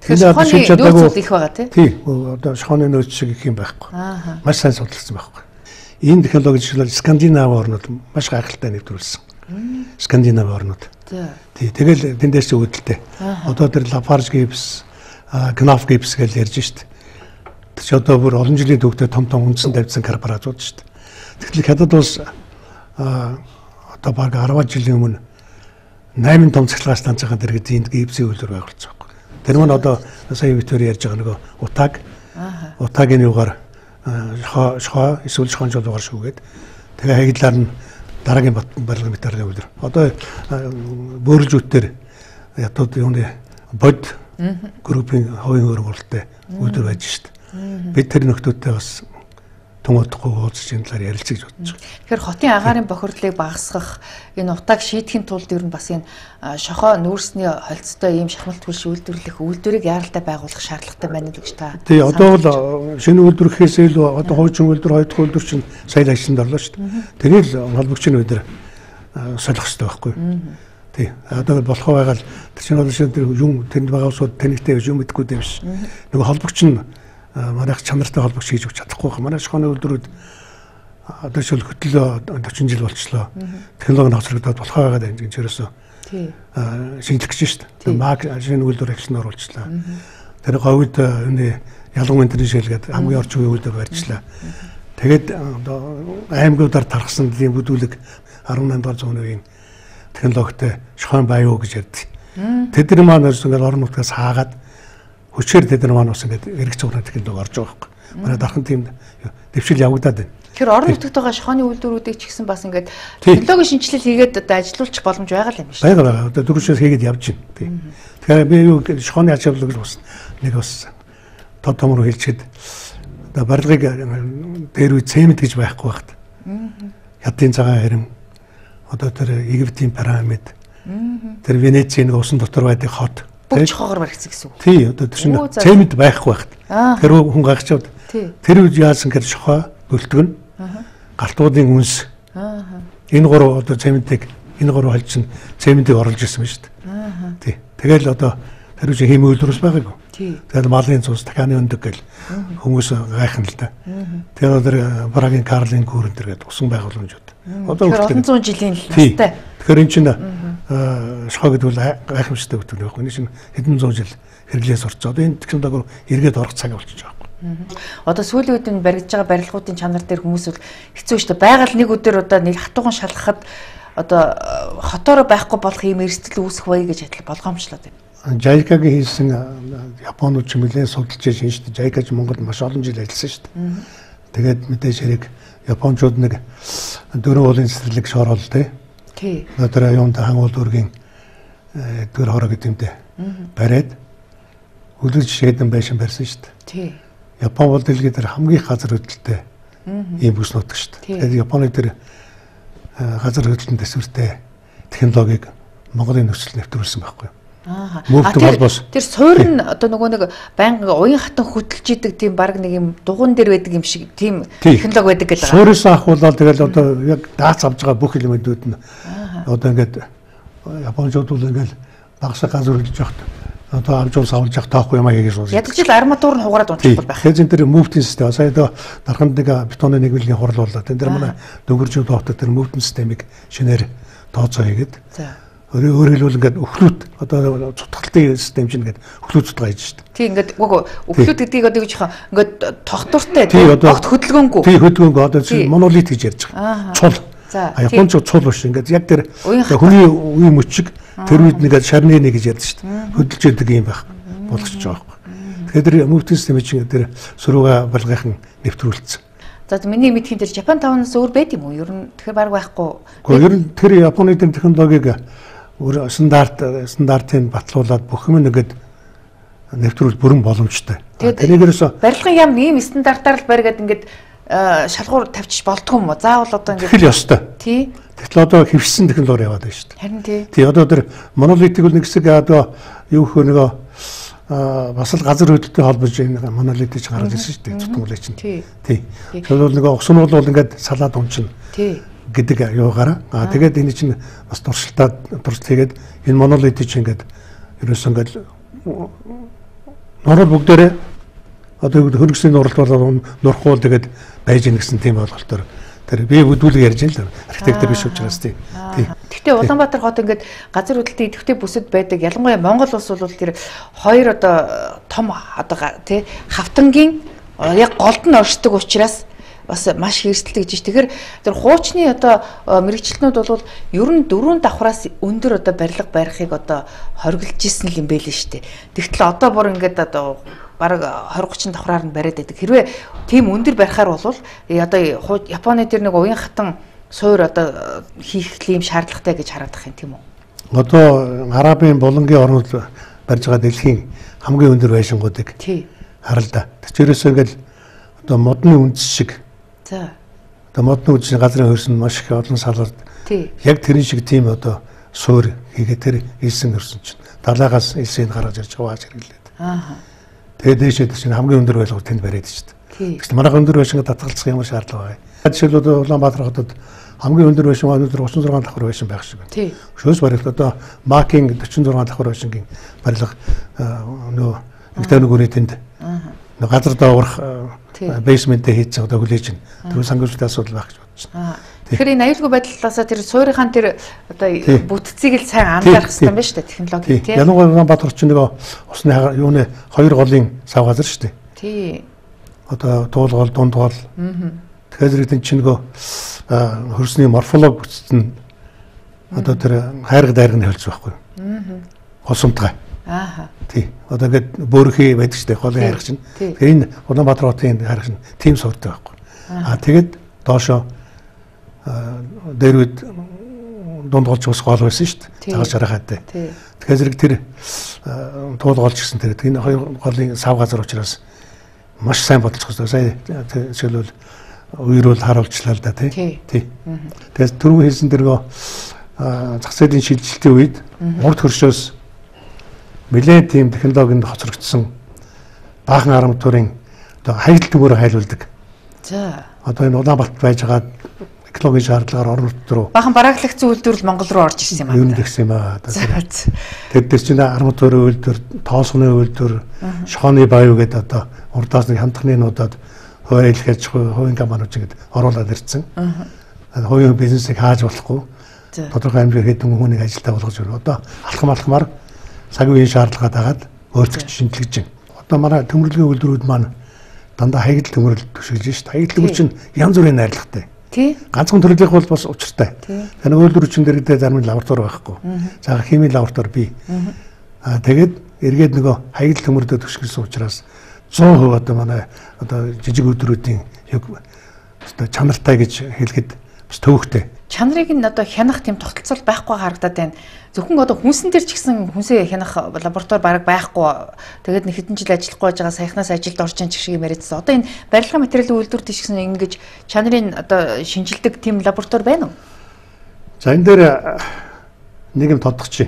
Тэгэхээр шохооны нөөц их байгаа тий. Одоо шохооны нөөц шиг их юм байхгүй. Маш сайн судалсан байхгүй. Энэ технологи жишээлбэл Скандинав орнууд маш гайхалтай нэвтрүүлсэн. Скандинав орнууд. Тий. Тэгэл тэндээс үүдэлтэй. Одоо тэр Lafarge Gibbs, Knauf Gips гэж ярьж шít. Тэр чи одоо бүр олон жилийн төвдөө том үндсэн тавьсан корпорацууд шít. Тэгэхээр хятад улс одоо баг 10 жилийн өмнө 8 том цахилгаан станцын дэргэд энд гипсийн үйлдвэр байгуулсан байхгүй. Тэр мань одоо сая Виктори ярьж байгаа нөгөө утаагийн югаар шохоо эсвэл шохонжолгоор шүүгээд тэгээ хаягдлаар нь дараагийн барилгын материалын үйлдвэр. Одоо бөөрөлжүүдээр ятууд юуны бод группийн хувийн хөрвөлтэй үйлдвэр байж шít. Бид тэр нөхдүүдтэй бас томоодохгүй уулзж энэ талаар ярилцаж бодож байгаа. Тэгэхээр хотын агаарын бохирдлыг багасгах, энэ утааг шийдэхин тулд ер нь бас энэ шохоо нүүрсний холцтой ийм шахмалт хурш үйлдвэрлэх үйлдвэрийг яаралтай байгуулах шаардлагатай байна гэж та. Тий, одоо бол шинэ үйлдвэр гэхээс илүү одоо хуучин үйлдвэр, хоёр дахь үйлдвэр чинь сая ажилланд орлоо шүү дээ. Тэрийг холбогчны өдөр солих хэрэгтэй байхгүй. Тий, одоо болохоо байгаад тэр чинь бол шинэ юм тэнд байгаа усууд танигтай юм мэдгүй дээ биш. Нөгөө холбогч нь манайх чанартай холбогч хийж өгч чадахгүй байна. Манай шохооны үйлдвэрүүд одоо шил хөтлөө 40 жил болчихлоо. Технологи нь хоцрогдоод болохоо байгаад энэ ерөөсөө шинжлэх гэж шүү дээ. Маг шинэ үйлдвэр агшин оруулчихлаа. Тэр говьд энэ ялган энтерний шилгээд хамгийн орчин үеийн үйлдвэр барьжлаа. Тэгээд аймагуудаар тархсан тийм бүдүүлэг 18 дугаар зууны үеийн технологитой шохойн баяу гэж ярьдаг. Тэд нар маань ингээд орон нутгаас хаагаад хүчээр тэд нар маань бас ингээд эргэж цугрын технологи орж байгаа байхгүй. Манай дархан тийм дэвшил явагдаад байна. Тэгэхээр орон нутагт байгаа шохооны үйлдвэрүүдийг ч гэсэн бас ингээд технологийн шинжилэл хийгээд одоо ажилуулчих боломж байгаа л юм шүү дээ. Байгаа. Одоо дөрвөөс хийгээд явж байна. Тэгэхээр би юу шохооны ач холбогдол бас нэг бас тод томроо хэлчихэд одоо барилгыг дээр үе цемент гэж байхгүй багт. Хятадын цагаан хэрэм одоо тэр Египтийн пирамид тэр Венецийн усан дотор байдаг хот бүх чохоогоор баригдсан гэсэн үг. Тий, одоо тэр чинь цемент байхгүй багт. Тэр хүн гайхчихвд. Тэр үед яасан гэж шохоо бөлтгөн галтуудын үнс. Энэ гурав одоо цементийг энэ гурав холжсон цементийг оруулж ирсэн ба шүү дээ. Тий. Тэгэл одоо тэр үе хийм үйлдвэрс байгаагүй. Тэгэл малын цус дахианы өндөг гэл хүмүүс гайхна л да. Тэр одоо Прагийн Карлын гүүрэн тэргээд усан байгууламжууд. Одоо олон зуун жилийн настай. Тэгэхээр эн чинь шохоо гэдэг бол гайхамшигтай бүтээл байхгүй. Энэ чинь хэдэн зуун жил хэрэглээс орцоо. Одоо энэ технологи эргээд орох цаг болчихж байгаа. Одоо сүүлийн үед нь баригдаж байгаа барилгуудын чанар дээр хүмүүс бол хэцүү шүү дээ. Байгаль нэг өдөр одоо нэг хатуухан шалгахад одоо хотоороо байхгүй болох юм эрсдэл үүсэх бай гэж болгоомжлоод байна. JICA-гийн хийсэн Японууд ч нэлээд судалж шинжтэй. JICA ч Монголд маш олон жил ажилласан шүү дээ. Тэгээд мэдээж хэрэг Япончууд нэг 4 уулын цэцэрлэг шороол тий. Одоо юунд хангуул дүүргийн дүүр хороо гэдэг юмтэй бариад үлгэж шийдэн байшин барьсан шүү дээ. Тий. Япон бол дэлхийд хамгийн газар хөдлөлттэй ийм бүс нутаг шүү дээ. Тэгээд Японы тэр газар хөдлөлтөнд төсвөртэй технологиг Монголын нөхцөл нэвтрүүлсэн байхгүй юу? Тэр суур нь одоо нөгөө нэг байнга уян хатан хөтлж идэг тийм баг нэг юм дугуун дээр байдаг юм шиг тийм технологи байдаг гэдэг. Суурьс авахулаад тэгэл одоо яг даац авж байгаа бүх элементүүд нь одоо ингээд Япончууд бол ингээд багсаа газар хөдлөж явахт одоо авч авч явах таахгүй юм аа гэж байна. Ядаж л арматур нь хугараад унтахгүй байх. Тэгэхээр тэр мөвтийн систем сая одоо дарханд нэг бетоны нэг билгийн хурлууллаа. Тэн дээр манай дөнгөржин доотор тэр мөвтийн системийг шинээр тооцоо хийгээд өөрөөр хэлбэл ингээд өхлүүд одоо цутгалтын систем чинь ингээд өхлүүд цутгаа хийж шүү дээ. Тийм ингээд үгүй өхлүүд гэдгийг одоо гэж хаа ингээд тогтвортой тийм огт хөдөлгөөнгүй. Тийм хөдөлгөөнгүй одоо монолит гэж ярьж байгаа. Цул. Японч цул биш ингээд яг тэр хүний үе мөчиг тэр үед нэгээд шарны нэг гэж ярьж шүү дээ. Хөдөлж яадаг юм байх болгоч байгаа байхгүй. Тэгэхээр тэр мөвтийн систем чинь тэр сурууга балгайхан нэвтрүүлсэн. За миний мэдхийн тэр Japan 5-аас өөр байд юм уу? Ер нь тэгэхээр баг байхгүй. Гэхдээ ер нь тэр Японы технологиг өөр стандартыг батлуулаад бүх юм нэгэд нэвтрүүл бүрэн боломжтой. Тэрнийгээс барилгын яам ийм стандартаар л бариад ингээд шалгуур тавьчих болдгоо юм уу? Заавал одоо ингээд тэгэл ёстой. Тий. Тэгтэл одоо хэвшсэн технологи яваад байна шүү дээ. Харин тий. Тий одоо тэр монолитик бол нэг хэсэг одоо юу хөө нөгөө бас л газар хөдлөлтөй холбож энэ монолитик гаргаж ирсэн шүү дээ. Зүтгүүлээ чинь. Тий. Тэр бол нөгөө усан бол ингээд салаад унчна. Тий. Гэдэг юугаараа. Тэгээд энэ чинь бас туршилтаад хийгээд энэ монолит чинь ингээд ерөөсөө ингээд норол бүгдээрээ одоо хөргөсний нуралт болоод нурхуул тэгээд байж гин гэсэн тийм ойлголтоор тэр би бүдүүлэг ярьж байна л архитектор биш учраас тийм. Гэхдээ Улаанбаатар хот ингээд газар хөдлөлтийн идэвхтэй бүсэд байдаг. Ялангуяа Монгол улс бол тэр хоёр одоо том одоо тий хавтангийн яг голд нь оршдог учраас бас маш хэрсэлтэй гэж. Тэгэхээр тэр хуучны одоо мэрэгчлэнүүд бол ер нь 4 давхраас өндөр одоо барилга барихыг одоо хориглож исэн юм байл нь шүү дээ. Тэгтэл одоо бүр ингээд одоо бараг 20-30 давхраар нь бариад байдаг. Хэрвээ тийм өндөр барихаар бол одоо Японы тэр нэг уян хатан суур одоо хийх юм шаардлагатай гэж хараад байгаа юм тийм үү? Одоо Арабын булангийн орнууд барьж байгаа дэлхийн хамгийн өндөр байшингуудыг харал да. Тэчээрээс ингээд одоо модны үндэс шиг. За. Одоо модны үндэсний газрын хөрс нь маш их олон салбарт. Яг тэрэн шиг тийм одоо суур хийгээд тэр илсэн хөрсөн чинь далаагаас илсэнд гаргаж ирж хавааж хэрэглээд. Тэгээд дээшээ чинь хамгийн өндөр байлгууд тэнд бариад шүү дээ. Тэгвэл манайх өндөр байшинг татгалзах ямар шаардлага байна? Жишээлбэл Улаанбаатар хотод хамгийн өндөр байшин өндөр 36 давхар байшин байх шиг байна. Шөөс барилт одоо Макинг 46 давхар байшингийн барилга нөө Игтэн нүгүрээ тэнд газар доогорох бейсментээ хийчихсэн одоо хүлээж байна. Тэгвэл санхүүжилтийн асуудал байх гэж бодож байна. Тэгэхээр энэ аюулгүй байдлаасаа тэр суурийнхаа тэр одоо бүтцийг л сайн анзаарах хэрэгтэй байна шүү дээ технологи тийм. Ялангуяа Улаанбаатар чинь нэг усны юуны хоёр голын сав газар шүү дээ. Тий. Одоо туул гол дунд гол. Тэгэхээр зэрэг чинь нөгөө хөрсний морфолог бүтцэн одоо тэр хайрга дайрганы хэлж байхгүй. Хосомтгай. Тий. Одоо ингээд бөөрхий байдаг шүү дээ голын хайрга чинь. Тэгэхээр энэ Улаанбаатар хотын хайрга чинь тийм сууртай байхгүй. Тэгээд доошоо дээрүүд дунд голч ус гол байсан шүү дээ. Цагаан шарахаатай. Тэгэхээр зэрэг тэр туул голч гэсэн тэр энэ хоёр голын сав газар учраас маш сайн бодолцох хэрэгтэй. Сая жишээлбэл үерүүл харуулчлаа л да тий. Тэгэхээр түрүү хэлсэн дэргөө зах зээлийн шилжилтийн үед урд хөршөөс нэлээд тийм технологинд хоцрогдсон баахан арматурын одоо хаягдл төмөөр хайлуулдаг. За. Одоо энэ Улаанбаатарт байж байгаа экологийн шаардлагаар орон нутг руу баахан барааглагцсан үйлдвэрлэл Монгол руу орж ирсэн юм аа. Юу нэгсэн юм аа. Тэр дээр чинь арматурын үйлдвэр, тоосгоны үйлдвэр, шохооны баяу гэдэг одоо урдаас нэг хамтны нуудад хувийн хэлхэж хувийн компаниуд ингэж оруулаад ирсэн. Хувийн бизнесийг хааж болохгүй. Тодорхой хэмжээгээр хэдэн хүнийг ажилдаа болгож өрөө. Одоо алхам-алхмаар цаг үеийн шаардлагаа дагаад өөрчлөж шинжилж байна. Одоо манай төмөрлөгийн үйлдвэрүүд маань дандаа хаягдл төмөрлөлт төшөөлж шүү дээ. Хаягдл төмөр чинь янз бүрийн найрлагатай. Тий. Ганцхан төрлийнх бол бас учиртай. Тэгэхээр үйлдвэрчин дэрэгдээ зарим лаборатори байхгүй. За химийн лаборатори бий. Тэгээд эргээд нөгөө хаягдл төмөрлөлт төшөөлсөн учраас 100% одоо манай одоо жижиг үйлдвэрүүдийн одоо чанартай гэж хэлэхэд бас төвөгтэй. Чанарыг нь одоо хянах тийм тогтолцол байхгүй харагдаад байна. Зөвхөн одоо хүнсэн дээр ч гэсэн хүнсээ хянах лаборатори бараг байхгүй. Тэгээд нэг хэдэн жил ажиллахгүй байгаа саяхнаас ажилд орж ин шиг юм яриадсан. Одоо энэ барилгын материалын үйлдвэр тийш гэсэн ингэж чанарын одоо шинжилдэг тийм лаборатори байна уу? За энэ дээр нэг юм тодтогч.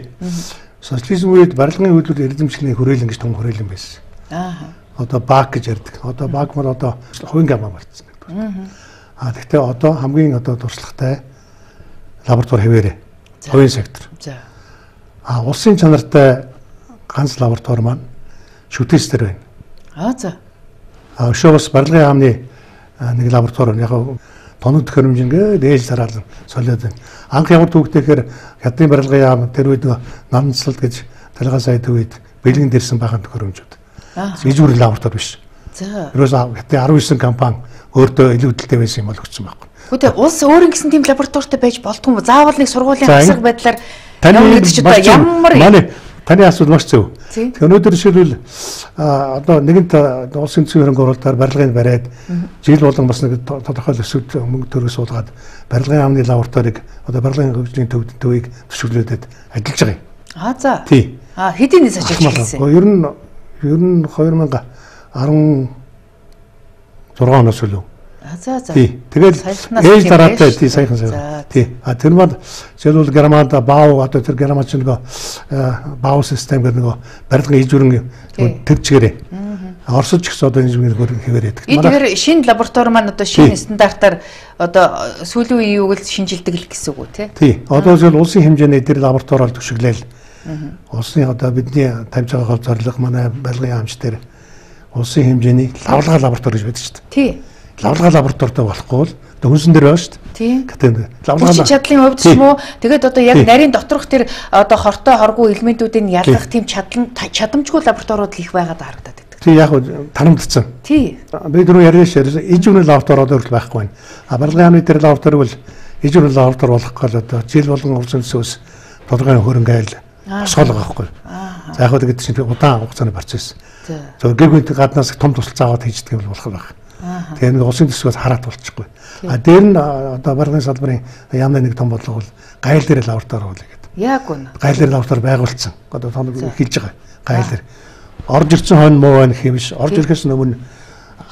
Социализм үед барилгын үйлдвэр эрдэмчлийн хүрээлэн гэж том хүрээлэн байсан. Одоо БАК гэж ярьдаг. Одоо БАК бол одоо хувийн гамаа болчихсон. Гэхдээ одоо хамгийн одоо туршлагатай лаборатори хэвээрээ хувийн сектор. Улсын чанартай ганц лаборатори маань шүтээстэр байна. За. Өшөөс барилгын яамны нэг лаборатори яг тоног төхөөрөмжингээ ээж тараалан солиод байна. Анх ямар төвөгтэйхээр хятадын барилгын яам тэр үед намцлалт гэж талгаа сая төвөд бэлгэн дэрсэн бахан төхөөрөмжүүд. Ижүүр лаборатори биш. За. Ерөөсөө хятадын 19 компани өөртөө илүү хөдөлтэй байсан юм бол өгсөн байхгүй. Гэхдээ улс өөр ингэсэн тийм лабораторитой байж болтгүй юм. Заавал нэг сургуулийн хасаг байдлаар ямар гэж одоо ямар таны асуулт маш зөв. Өнөөдөр жишээлбэл одоо нэгэнт улсын төсвийн хөрөнгө оруулалтаар барилгыг бариад жил болгон бас нэг тодорхой өсөлт мөнгө төгрөг суулгаад барилгын яамны лабораторийг одоо барилгын хөгжлийн төвийг төсвөлөөд ажиллаж байгаа юм. За. Тий. Хэдийн нийс ажилласан? Ер нь 2016 оноос үлээ. За. Тэгэл ээж дараатай тий саяхан сая. Тий. Тэр маань жишээлбэл Германд баав одоо тэр Герман ч нэг баав систем гэдэг нэг барилгын ижүүрэн төвчгээрээ. Оросч гэсэн одоо энэ зүйл хэвээр байдаг. Тэгэхээр шинэ лаборатори маань одоо шинэ стандартаар одоо сүүлийн үеийн юуг л шинжилдэг л гэсэн үг үү тий. Одоо зөв улсын хэмжээний тэр лабораториол төшөглөөл. Улсын одоо бидний тавьж байгаа гол зорилго манай барилгын яамч дээр улсын хэмжээний лавлага лаборатори гэж байдаг шүү дээ. Тий. Лавлага лабораторитой болохгүй бол Хүнсэн дээр байна шүү дээ. Тийм. Лавлаа чадлын хувьд ч юм уу тэгээд одоо яг нарийн доторх тэр одоо хортой хоргүй элементүүдийг ялгах тийм чадамжгүй лабораториуд их байгаад харагдаад байдаг. Тий яг тарамдсан. Тий. Би дөрөв ярьж ижүүрийн лаборатори одоо байхгүй байна. Барилгын яамны дээр лаборатори бол ижүүрийн лаборатори болох гол одоо жил болгон урсан төсөөс толгойн хөрөнгө айл босгоолго байхгүй. За яг гэдэг чинь удаан хугацааны процесс. За гэр бүлийн гаднаас том тусалцаа аваад хийждэг юм болох байх. Тэгээ нэг улсын төсвөөс хараад болчихгүй. Дээр нь одоо барилгын салбарын яамны нэг том бодлого бол гайл дээр лаборатори болно гэдэг. Яг үнэ. Гайл дээр лаборатори байгуулсан. Одоо том эхэлж байгаа. Гайл дээр. Орж ирсэн хойно муу байна гэх юм биш. Орж ирэхээс өмнө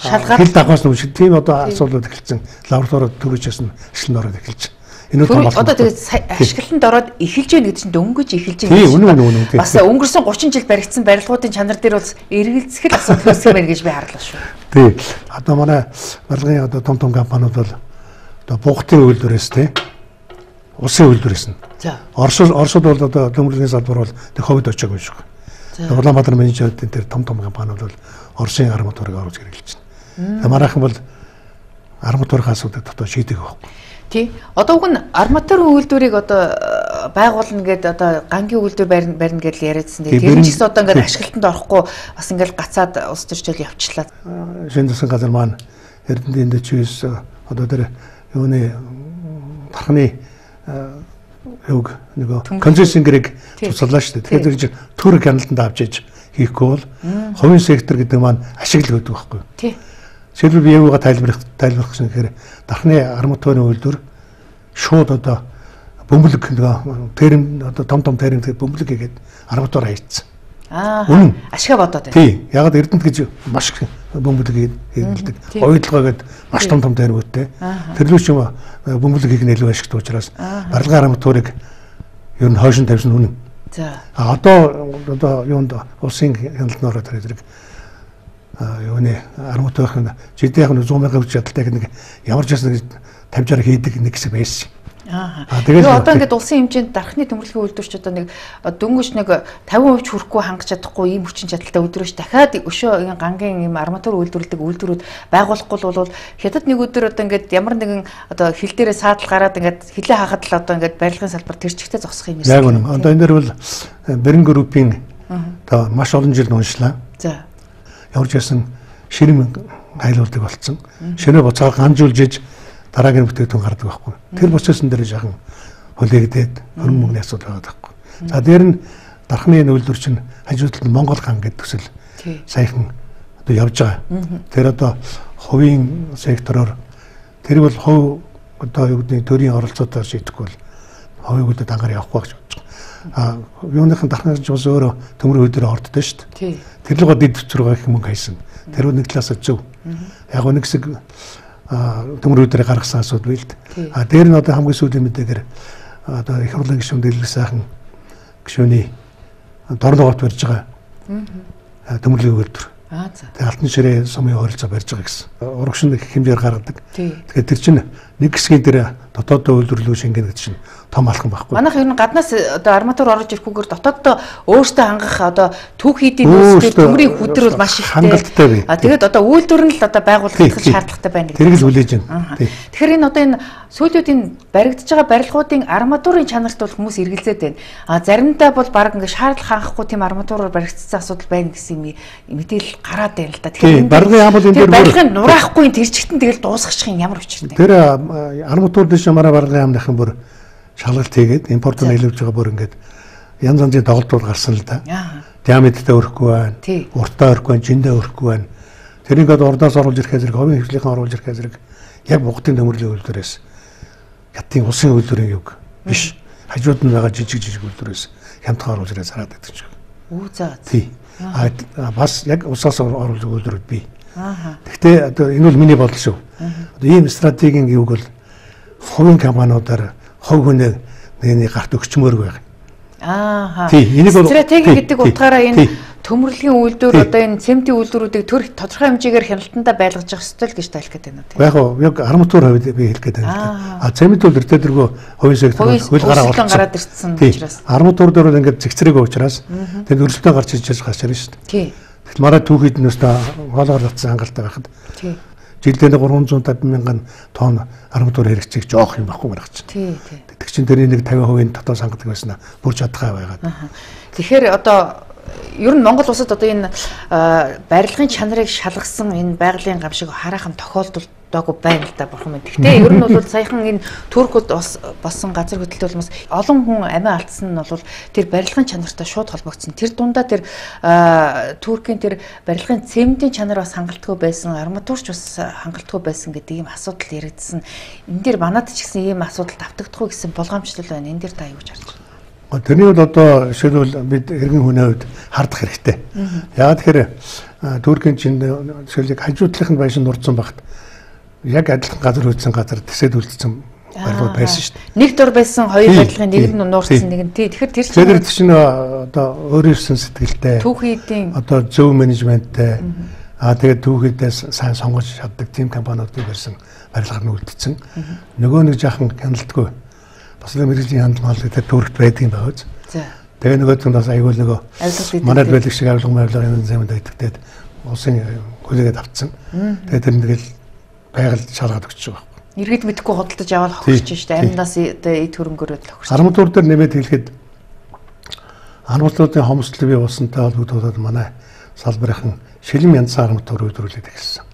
шалгаад хил давхаас өмнө тийм одоо асуудлууд эхэлсэн. Лабораторид төрөжээс нь ашиглан ороод эхэлж. Энэ бол одоо тэгээд ашиглалтанд ороод эхэлж гэнэ гэдэг чинь дөнгөж эхэлж байгаа. Тийм үнэн. Бас өнгөрсөн 30 жил баригдсан барилгуудын чанар дээр бол эргэлзэх л асуудал үүсгэх мэн гэж би харлаа шүү. Тийм. Одоо манай барилгын одоо том компаниуд бол одоо бугтын үйлдвэрээс тийм улсын үйлдвэрээс нь. За. Оросд бол одоо төмөрлөгийн салбар бол тэг ховд очоогүй шүү. Улаанбаатар менежерүүдийн тэр том компаниуд бол Оросын арматурыг оруулж хэрэглэж байна. Манайхан бол арматурын асуудыг дотоод шийдэг байхгүй. Тий. Одоо уг нь арматурын үйлдвэрийг одоо байгуулна гэдэг одоо гангийн үйлдвэр барина гэж яриадсан. Тэр нь ч гэсэн одоо ингээд ашиглалтанд орохгүй бас ингээд гацаад улс төрчил явчлаа. Шинэ засгийн газар маань Эрдэнэт дэвчээс одоо тэр юуны тархны юг нөгөө консенсингийг цуцлаа шүү дээ. Тэгэхээр төр хяналтанд авч иж хийхгүй бол хувийн сектор гэдэг маань ашиглал өгдөг байхгүй. Тий. Жишээлбэл би юугаа тайлбарлах гэсэн хэрэг дархны арматурын үйлдвэр шууд одоо бөмбөлөг нөгөө терм одоо том терм бөмбөлөг хийгээд арматур хийцсэн. Аа. Ашиг бодоод байна. Тий. Яг Эрдэнэт гэж маш бөмбөлөг хийдэг. Ойдлогоо гээд маш том термүүдтэй. Тэрлүүч юм бөмбөлөг хийх нь илүү ашигтай учраас барилгын арматурыг ер нь хойшин тавьсан үнэн. За. Одоо юунд улсын хяналтанд ороод ирэх юуны арматурын жидээ яг 100,000 хүч чадалтай нэг ямар ч ясна 50-60 хийдэг нэг хэсэг байсан. Тэгээд одоо ингээд улсын хэмжээнд дархны төмөрлөгийн үйлдвэрч одоо нэг дөнгөж нэг 50% хүрэхгүй хангаж чадахгүй ийм хүчин чадалтай үйлдвэрч дахиад өшөө гангийн ийм арматур үйлдвэрлэдэг үйлдвэрүүд байгуулахгүй бол хятад нэг өдөр одоо ингээд ямар нэгэн одоо хил дээрээ саадал гараад ингээд хилээ хахад л одоо ингээд барилгын салбар тэр чигтээ зогсох юм байна. Яг үнэ. Одоо энэ дэр бол Берин группийн одоо маш олон жил уншлаа. За. Ямар ч ясан ширэм хайлуулдаг болцсон. Ширээ буцаа ганжуулж дараагийн бүтээгдэхүүн гардаг байхгүй. Тэр процессын дээр жаахан хүлээгдээд хөрөн мөнгөний асуудал байгаа байхгүй. За дээр нь дархны үйлдвэр чинь хажуудалд Монгол хан гэдэг төсөл саяхан одоо явж байгаа. Тэр одоо хувийн сектороор тэр бол хувь одоо юу гэдэг төрийн оролцоотой шийдэхгүй бол хувийг үлдээд ангаар явахгүй гэж бодож байгаа. Юуныхан дархны ч бас өөрөө төмөр үйлдвэрээ орддоо шүү дээ. Тэр л гоо дэд төсвөр их мөнгө хайсан. Тэр нэг талаас зөв. Яг нэг хэсэг төмөр үйлдвэрээ гаргасан асуудал байл л. Дээр нь одоо хамгийн сүүлийн мэдээгээр одоо их хурлын гишүүн дэлгэх сайхан гишүүний дорногоот барьж байгаа. Төмөрлөгийн үйлдвэр. Тэгээ алтан ширээ сумын ойролцоо барьж байгаа гэсэн. Урагшин их хэмжээр гаргадаг. Тэгэхээр тэр чинь нэг хэсгийн дээр дотооддоо үйлдвэрлэлөө шингэнэ гэдэг чинь том алхам байхгүй. Манайх ер нь гаднаас одоо арматур орж ирэхгүйгээр дотооддоо өөртөө хангах одоо түүхийдийн нөөцтэй төмрийн хүдэр бол маш ихтэй. Тэгээд одоо үйлдвэр нь л одоо байгуулах шаардлагатай байна гэдэг. Тэрийг л хүлээж байна. Тэгэхээр энэ одоо энэ сүүлийн баригдаж байгаа барилгуудын арматурын чанарт бол хүмүүс эргэлзээд байна. Заримдаа бол баг ингээд шаардлага хангахгүй тийм арматураар баригдсан асуудал байна гэсэн мэдээлэл гараад байна л да. Тэгэхээр барилгын яам бол энэ дээр барилгын нураахгүй тэр чигтэн тэгэл дуусгачих юм ямар учиртай. Тэр арматур дэш ямаараа барилгын яамныхан бүр шалгалт хийгээд импортоор нийлүүлж байгаа бүр ингээд янз янзын тоглолтууд гарсан л да. Диаметртэй өрөхгүй байна. Уртаа өрөхгүй байна, жиндээ өрөхгүй байна. Тэрийг одоо урдаас оруулж ирэх зэрэг, хувийн хвшлийнхэн оруулж ирэх зэрэг яг бугтын төмөрлөгийн үйлдвэрээс ятын улсын үйлдвэрийн юг биш. Хажууд нь байгаа жижиг үйлдвэрээс хямдхан оруулж ирээ зараад байдаг ч. Үу заа. Тий. Бас яг усаас оруулж үйлдвэрүүд бий. Гэхдээ одоо энэ бол миний бодол шүү. Одоо ийм стратегийн юг бол хувийн компаниудаар хов хүнээ нэг гарт өгчмөөр байх. Стратеги гэдэг утгаараа энэ төмөрлөгийн үйлдвэр одоо энэ цементийн үйлдвэрүүдийг төр тодорхой хэмжээгээр хяналтандаа байлгаж явах ёстой л гэж тайлх гэдэг юм уу? Яг яг арматур хувьд би хэлэх гэдэг юм. Цемент үйлдвэр тэргөө хувийн сектор хөл гараад ирсэн учраас арматур дээр бол ингээд зэгцрээгүй учраас тэр өрсөлдөөн гарч иж гарч ирнэ шүү дээ. Тэгэл мараа түүхийд нөөсөө хоолоор татсан хангалттай байхад жилдээ 350 мянган тонн арматур хэрэгцээг жоох юм баггүй гаргач. Тий. Тэг чин тэрний нэг 50% дотоод сангадаг байснаа бүр чадхаа байгаад. Тэгэхээр одоо ер нь Монгол улсад одоо энэ барилгын чанарыг шалгасан энэ байгалийн гам шиг хараахан тохиолдолдоогүй байна л да бурхан минь. Гэхдээ ер нь бол саяхан энэ Туркууд болсон газар хөдлөлт улмаас олон хүн амиа алдсан нь бол тэр барилгын чанартай шууд холбогдсон. Тэр дундаа тэр Туркийн тэр барилгын цементийн чанар бас хангалтгүй байсан, арматурч бас хангалтгүй байсан гэдэг ийм асуудал яригдсан. Энэ дээр манад ч гэсэн ийм асуудал давтагдахгүй гэсэн болгоомжлол байна. Энэ дээр та юу гэж харж байна? Тэрний бол одоо жишээлбэл бид иргэн хүний хувьд хардах хэрэгтэй. Яагаад тэгэхээр Туркийн чинь жишээлбэл хажуудлынх нь байшин нурдсан багт яг адилхан газар хөөцсөн газар тэсэд үлдсэн барилга байсан шүү дээ. Нэг дор байсан хоёр барилгын нэг нь нуурсан нэг нь тий. Тэгэхээр тэр чинь одоо өөрөөсөн сэтгэлтэй. Түүхийдийн одоо зөв менежменттэй тэгээд түүхийдээ сайн сонгож чаддаг тим компаниудыг барьсан барилгаар нь үлдсэн. Нөгөө нэг жаахан хяналтгүй бас мэрэгжлийн хандлага тэр Туркт байдаг юм байна. За. Тэгээ нөгөө нь бас аюул нөгөө манайд байдаг шиг авилга энэ зэмэнд байдагтээд улсын хүлээгээд авцсан. Тэгээ тэр нэгэл байгаль шалгаад өгч байгаа байхгүй. Иргэд мэдхгүй худалдаж аваад хогсож штэ. Амнаас эд хөрөнгөөрөө л хогсож. Арматур дээр нэмээд хэлэхэд арматурын хомсдол бий болсонтой холбогдуулаад манай салбарынхан шилэн янзсан арматур үйлдвэрлээд эхэлсэн.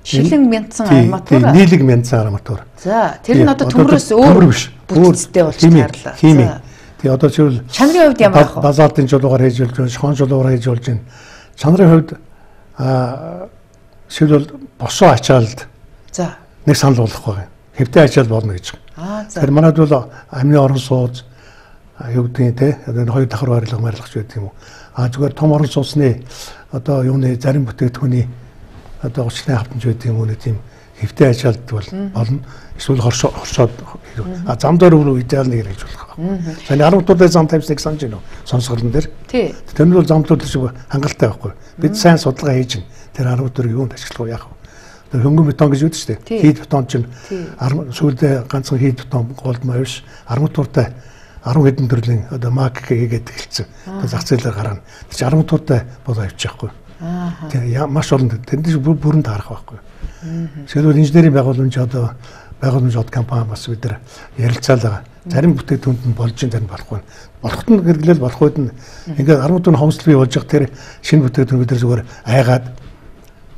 Шилэн мяндсан арматур. Нийлэг мяндсан арматур. За, тэр нь одоо төмрөөс өөр биш. Бүтцтэй болж чарлаа. Хими. Тэгээ одоо чивэл чанарын хувьд ямар ах вэ? Базаалтын жолоогаар хийж болж байна, шоон жолоогаар хийж болж байна. Чанарын хувьд шилбэл босоо ачаалд. За. Нэг санал болгох байгаа. Хэвтэй ачаал болно гэж. За. Тэр манайд бол амны орон сууц юу гэдэг те одоо хоёр давхар барилга марилгач байдаг юм уу? Зүгээр том орон сууцны одоо юуны зарим бүтээгдэхүүний одоо 30-ны хавтанч байдаг юм уу нэг тийм хэвтэй ачаалд бол болно. Эсвэл хоршоод зам дээр рүү идеал нэг гэж болох байна. Саний 10 дуртай зам тавьсныг санаж байна уу? Сонсголон дээр. Тий. Тэр нь бол замтууд шиг хангалттай байхгүй. Бид сайн судалгаа хийж байна. Тэр 10 дурыг юунд ашиглах вэ яах вэ? Тэр хөнгөн бетон гэж үүдэж штэ. Хийд бетон чинь сүүлдээ ганцхан хийд бетон голдмаа биш. Арматуртай 10 хэдэн төрлийн одоо мак хийгээд эхэлсэн. Одоо зах зээлээр гарна. Тэр чинь арматуртай болоо авчихгүй. Тэгээ маш олон тэнд бүрэн таарах байхгүй. Жишээлбэл инженерийн байгууламж одоо байгууламж компани бас бид нар ярилцаал байгаа. Зарим бүтээгдэхүүнд нь болж зарим болохгүй. Болоход нь хэрэглээл болоход нь ингээд арматурын хомсдол бий болж байгаа тэр шинэ бүтээгдэхүүн бид нар зүгээр айгаад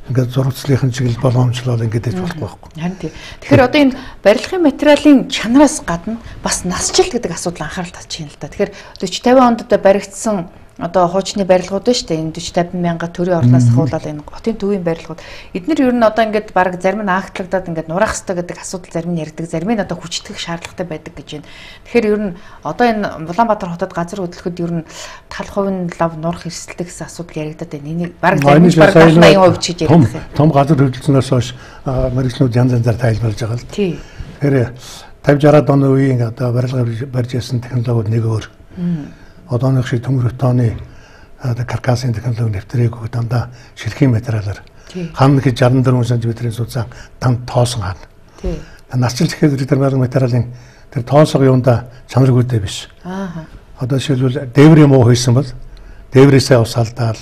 ингээд зурагчлалын чиглэл боломжлол ингээд хийж болохгүй байхгүй. Харин тий. Тэгэхээр одоо энэ барилгын материалын чанараас гадна бас насжилт гэдэг асуудал анхаарал татчих юм л да. Тэгэхээр 40-50 онд одоо баригдсан одоо хуучны барилгууд байна шүү дээ. Энэ 40-50 мянга төрийн орлоос ахуулаад энэ хотын төвийн барилгууд. Эднэр ер нь одоо ингээд баг зарим ньаагтлагдаад ингээд нураах хэрэгтэй гэдэг асуудал зарим нь ярьдаг. Зарим нь одоо хүчтгэх шаардлагатай байдаг гэж байна. Тэгэхээр ер нь одоо энэ Улаанбаатар хотод газар хөдлөхөд ер нь тал хувийн лав нурах эрсдэлтэй гэсэн асуудал яригадаад байна. Энийг баг зарим нь баг 80% ч гэж ярьдаг юм. Том газар хөдлөлтнөөс хойш мэргэжлүүд янз янзаар тайлбарлаж байгаа л. Тий. Тэгэхээр 50-60 оны үеийн одоо барилга барьж ясан технологиуд нэг өөр. Одооных шиг төмөр бетоны каркасын технологи нэвтрээгүй дандаа ширхгийн материалаар хам гэж 64 см-ийн судсан данд тоосон хаана. Тий. Насжилт гэхэд тэр барилга материалын тэр тоосго юунда чанаргүйтэй биш. Одоо жишээлбэл дээврийн муу хойсон бол дээврээсээ ус алдаал.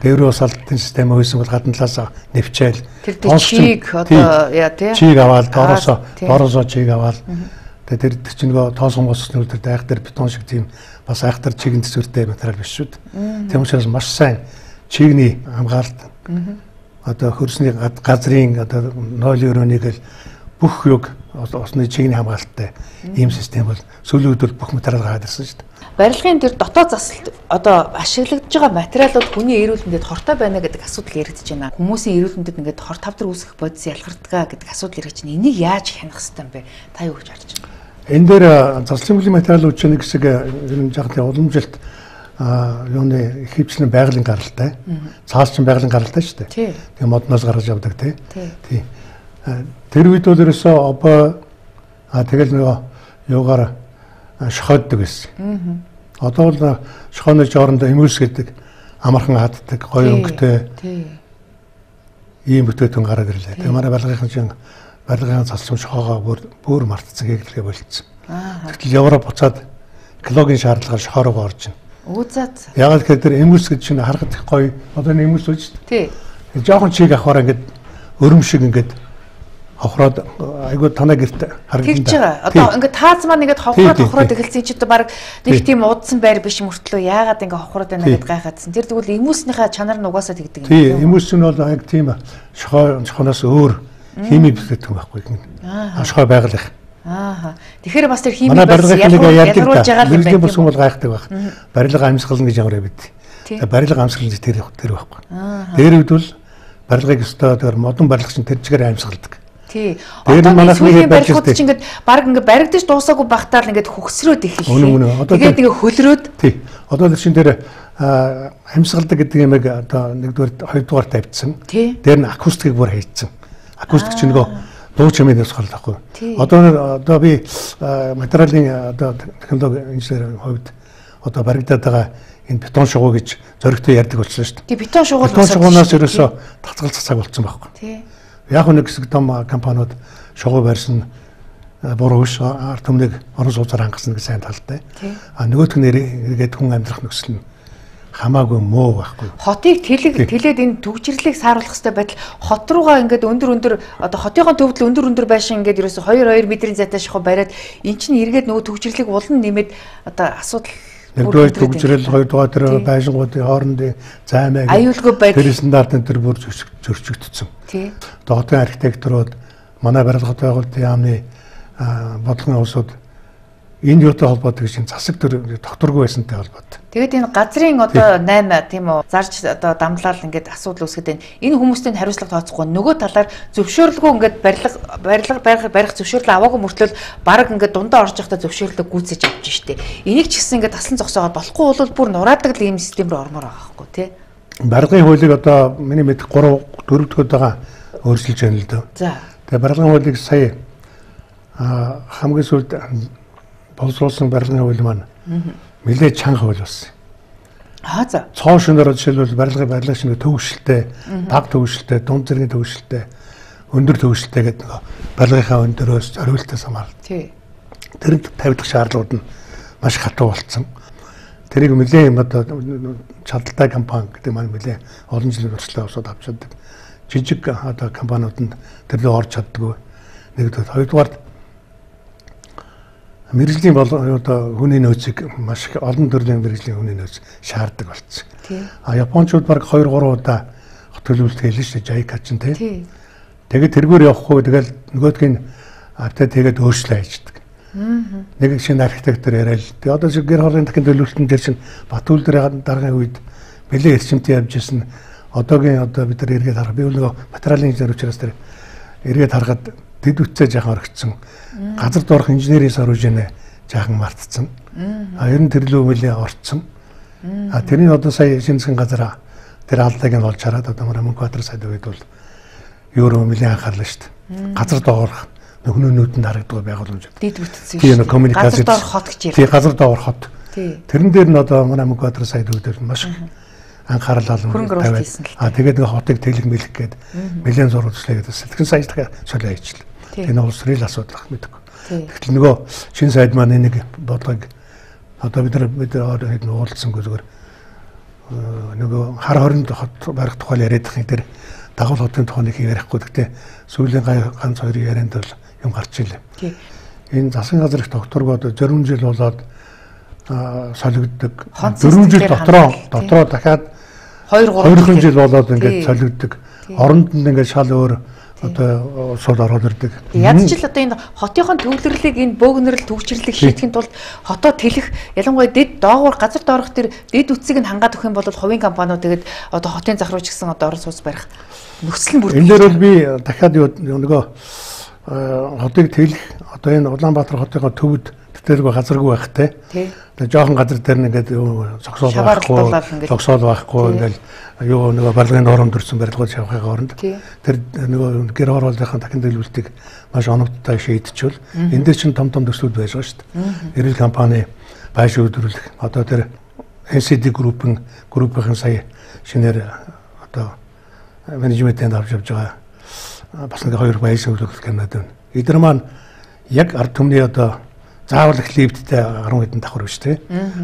Дээврийн ус алдалтын систем хойсон бол гадна талаас нэвчээл. Тэр чийг одоо яа тий. Чийг аваад доороосоо чийг аваад тэр чинь нөгөө тоосон болсны үр дээр айхтар бетон шиг тийм бас айхтар чигийн төсвөртэй материал биш шүү дээ. Тийм учраас маш сайн чигний хамгаалалт одоо хөрсний газрын одоо 0.9-ийг л бүх юг осны чигний хамгаалалттай ийм систем бол сүүлийн үед бол бүх материал гараад ирсэн шүү дээ. Барилгын тэр дотоод засалт одоо ашиглагдж байгаа материалууд хүний эрүүл мэндэд хортой байна гэдэг асуудал яригдж байна. Хүмүүсийн эрүүл мэндэд ингээд хор тавдар үүсгэх бодис ялгардгаа гэдэг асуудал яригдж байна. Энийг яаж хянах хэрэгтэй юм бэ? Та юу гэж харж байна? Энэ дээр заслын материалууд чинь нэг хэсэг ер нь жаахан уламжилт юуны хөвчлэн байгалийн гаралтай. Цаас чинь байгалийн гаралтай шүү дээ. Тэгээ модноос гаргаж авдаг тий. Тэр үед бол ерөөсөө обо тэгэл нөгөө юугаар шохойддаг байсан. Одоо бол шохооны жоорондоо эмүүлс гэдэг амархан хаддаг, гоё өнгөтэй ийм бүтээгдэхүүн гараад ирлээ. Тэгээ манай барилгын заслын шохоогоо бүр мартцсан гэхлэгээ болцсон. Тэгтэл Европ буцаад экологийн шаардлагаар шохороо орж байна. Үзээд. Ягаад гэхээр тэр эмүүлс гэж чинь харахад их гоё. Одоо энэ эмүүлс үү шүү дээ. Тий. Жохон чиг авахаар ингээд өрөм шиг ингээд хохроод айгуу танаа гэрт харагдана. Тэгж байгаа. Одоо ингээд тааз маань ингээд хохроод эхэлсэн чи одоо баг нэг тийм удсан байр биш мөртлөө яагаад ингээд хохроод байна гэдээ гайхаадсан. Тэр тэгвэл эмүүснийхээ чанар нь угаасаа тэгдэг юм. Тийм эмүүс нь бол яг тийм шохоноос өөр хими бэлтгэдэг байхгүй юм. Шохоо байгаль их. Тэгэхээр бас тэр хими ялгаруулж байгаа юм байна. Бүсгүй бол гайхдаг байх. Барилга амьсгал гэж ямар байд. Барилга амьсгал гэж тэр байхгүй. Тэр үед бол барилгыг өстой тэр модон барилга чинь тэр чигээр амьсгалдаг. Тий. Одоо сүүлийн барилгууд чинь ингээд баг ингээд баригдаж дуусаагүй багтаал ингээд хөгсрөөд эхэллээ. Тэгээд ингээд хөлрөөд. Тий. Одоо тэр чинь тэр амьсгалдаг гэдэг юм яг одоо нэгдүгээр хоёрдугаар тавьдсан. Дээр нь акустикийг бүр хийцэн. Акустик чинь нөгөө дуу чимээс холдохгүй. Одоо би материалын одоо технологи инженерийн хувьд одоо баригдаад байгаа энэ бетон шугуу гэж зөрөгтэй ярьдаг болсон шүү дээ. Тий, бетон шугуунаас ерөөсөө татгалзах цаг болсон байхгүй. Тий. Яг нэг хэсэг том компаниуд шугуу барьсан буруу биш ард түмнийг орон сууцаар хангасан гэж сайн талтай. Нөгөөх нь эргээд хүн амьдрах нөхцөл нь хамаагүй муу байхгүй. Хотыг тэлээд энэ төгжрлийг сааруулах хэрэгтэй байтал хот руугаа ингээд өндөр одоо хотынхоо төвдөл өндөр байшин ингээд ерөөсө 2 метрийн зайтай шахуу бариад эн чинь эргээд нөгөө төгжрлийг улан нэмээд одоо асуудал нэгдүгээр төгжрөл хоёрдугаар тэр байшингуудын хоорондын займаг аюулгүй байдал тэр стандартын тэр бүр зөрчигдсөн. Тий. Хотын архитектурууд манай барилгын байгуулалтын яамны бодлогын улсууд энэ юутай холбоотой гэж засаг төр докторгүй байсантай холбоотой. Тэгээд энэ газрын одоо 8 тийм үү зарж одоо дамлал ингээд асуудал үүсгээд байна. Энэ хүмүүстэй хариуцлага тооцохгүй нөгөө талаар зөвшөөрлгүй ингээд барилга барих зөвшөөрлөө аваагүй мөртлөө баг ингээд дундаа орж явахдаа зөвшөөрлөө гүйцэж авч штэ. Энийг ч гэсэн ингээд таслан зогсоогоод болохгүй бол бүр нураадаг л ийм систем рүү ормоор байгаа байхгүй тий. Барилгын хуулийг одоо миний мэд 3-4 дахь удаага өөрчилж байна л дөө. За. Тэгээд барилгын хуулийг сая хамгийн сүүлд боловсруулсан барилгын хууль маань нэлээд чанга хууль болсон. За. Цоо шөнөөр жишээлбэл барилгын шинэ төвшөлтэй, баг төвшөлтэй, дунд зэргийн төвшөлтэй, өндөр төвшөлтэй гэдэг нэг барилгынхаа өндөрөөс зориултаас хамаарна. Тий. Тэр тавигдах шаардлагууд нь маш хатуу болцсон. Тэрийг нэлээд одоо чадaltaй компани гэдэг маань нэлээд олон жилийн туршлага авсад авч чаддаг. Жижиг одоо компаниудад тэр лөө орж чаддгүй. Нэгдүгээр, хоёрдугаар мэргэжлийн одоо хүний нөөцийг маш олон төрлийн мэргэжлийн хүний нөөц шаарддаг болцсон. Японочууд баг 2-3 удаа хот төлөвлөлт хийлээ шүү дээ. JICA ч тий. Тэгээд тэргээр явахгүй тэгэл нөгөөдгийг автаа тэгээд өөрчлөө хийждэг. Нэг шинэ архитектор яриад. Тэгээд одоо шиг гэр хоолны дахин төлөвлөлтөн дээр чинь Батүл дээр дараагийн үед бэлээ эрчимтэй явж ирсэн. Одоогийн одоо бид нар эргээд харах. Би нөгөө материалын инженер учраас тэр эргээд харахад дэд үтцээ жаахан орогдсон. Газар доорх инженерийн сооружнээ жаахан мартцсан. Ер нь тэрлүү мөлийн орцсон. Тэрний одоо сая шинэсгэн газар тэр алдааг нь олж хараад одоо Мөнхбаатар сайд үед бол евро мөлийн анхаарлаа шүү дээ. Газар доорх нөхнөө нүдэнд харагддаг байгууламжууд. Дэд үтцсэн шүү дээ. Газар доорх хот гэж ярьдаг. Тий, газар доорх хот. Тэрэн дээр нь одоо Мөнхбаатар сайд үед маш анхаарал тавиад. Тэгээд нэг хотыг тэлэг мэлэх гээд нэлээд зургуулчлаа гэдэг. Сэтгэн сая дахиад солио хийчихлээ. Энэ улс төрийн асуудал мэдээгүй. Тэгтэл нөгөө шинэ сайд маань нэг бодлогыг одоо бид нар хэд уулзсангүй зүгээр нөгөө хар хоринд хот барих тухай яриад их тэр дагуул хотын тухайг ярихгүй. Гэхдээ сүүлийн ганц хоёрын ярианд бол юм гарч илээ. Энэ засгийн газар их докторгоод 40 жил болоод солигддог. 4 жил дотроо дахиад 2-3 жил болоод ингээд солигддог. Оронд нь ингээд шал өөр одоо сул ороод ирдэг. Ядчил одоо энэ хотынхон төвлөрлийг энэ бөөгнөрл төвчрлийг шийдэхин тулд хотоо тэлэх ялангуяа дэд доогуур газар доорох тэр дэд үтсийг нь хангаад өгөх юм бол хувийн компаниуд тэгээд одоо хотын зах руу ч гэсэн одоо орон сууц барих нөхцөл нь бүрдэх. Энэ дээр бол би дахиад нөгөө хотыг тэлэх одоо энэ Улаанбаатар хотынхоо төвд тэтэргүй газаргүй байхтай. Тэгээд жоохон газар дээр нь ингээд зогсоол байхгүй ингээд юу нөгөө барилгын нормд төрсэн барилгууд шавхайгаа оронд тэр нөгөө гэр хорооллынхаа дахин төлөвлөлтийг маш оновчтой шийдчихвэл энэ дээр чинь том төслүүд байж байгаа шүү дээ. Эрүүл компани байшин үйлдвэрлэх одоо тэр NCD группийн сая шинээр одоо менежментэнд авч явж байгаа бас нэг 2 байшин үйлдвэрлэх гэнэд байна. Эдгээр маань яг ард түмний одоо заавал их лифттэй 10 хэдэн давхар биш тий.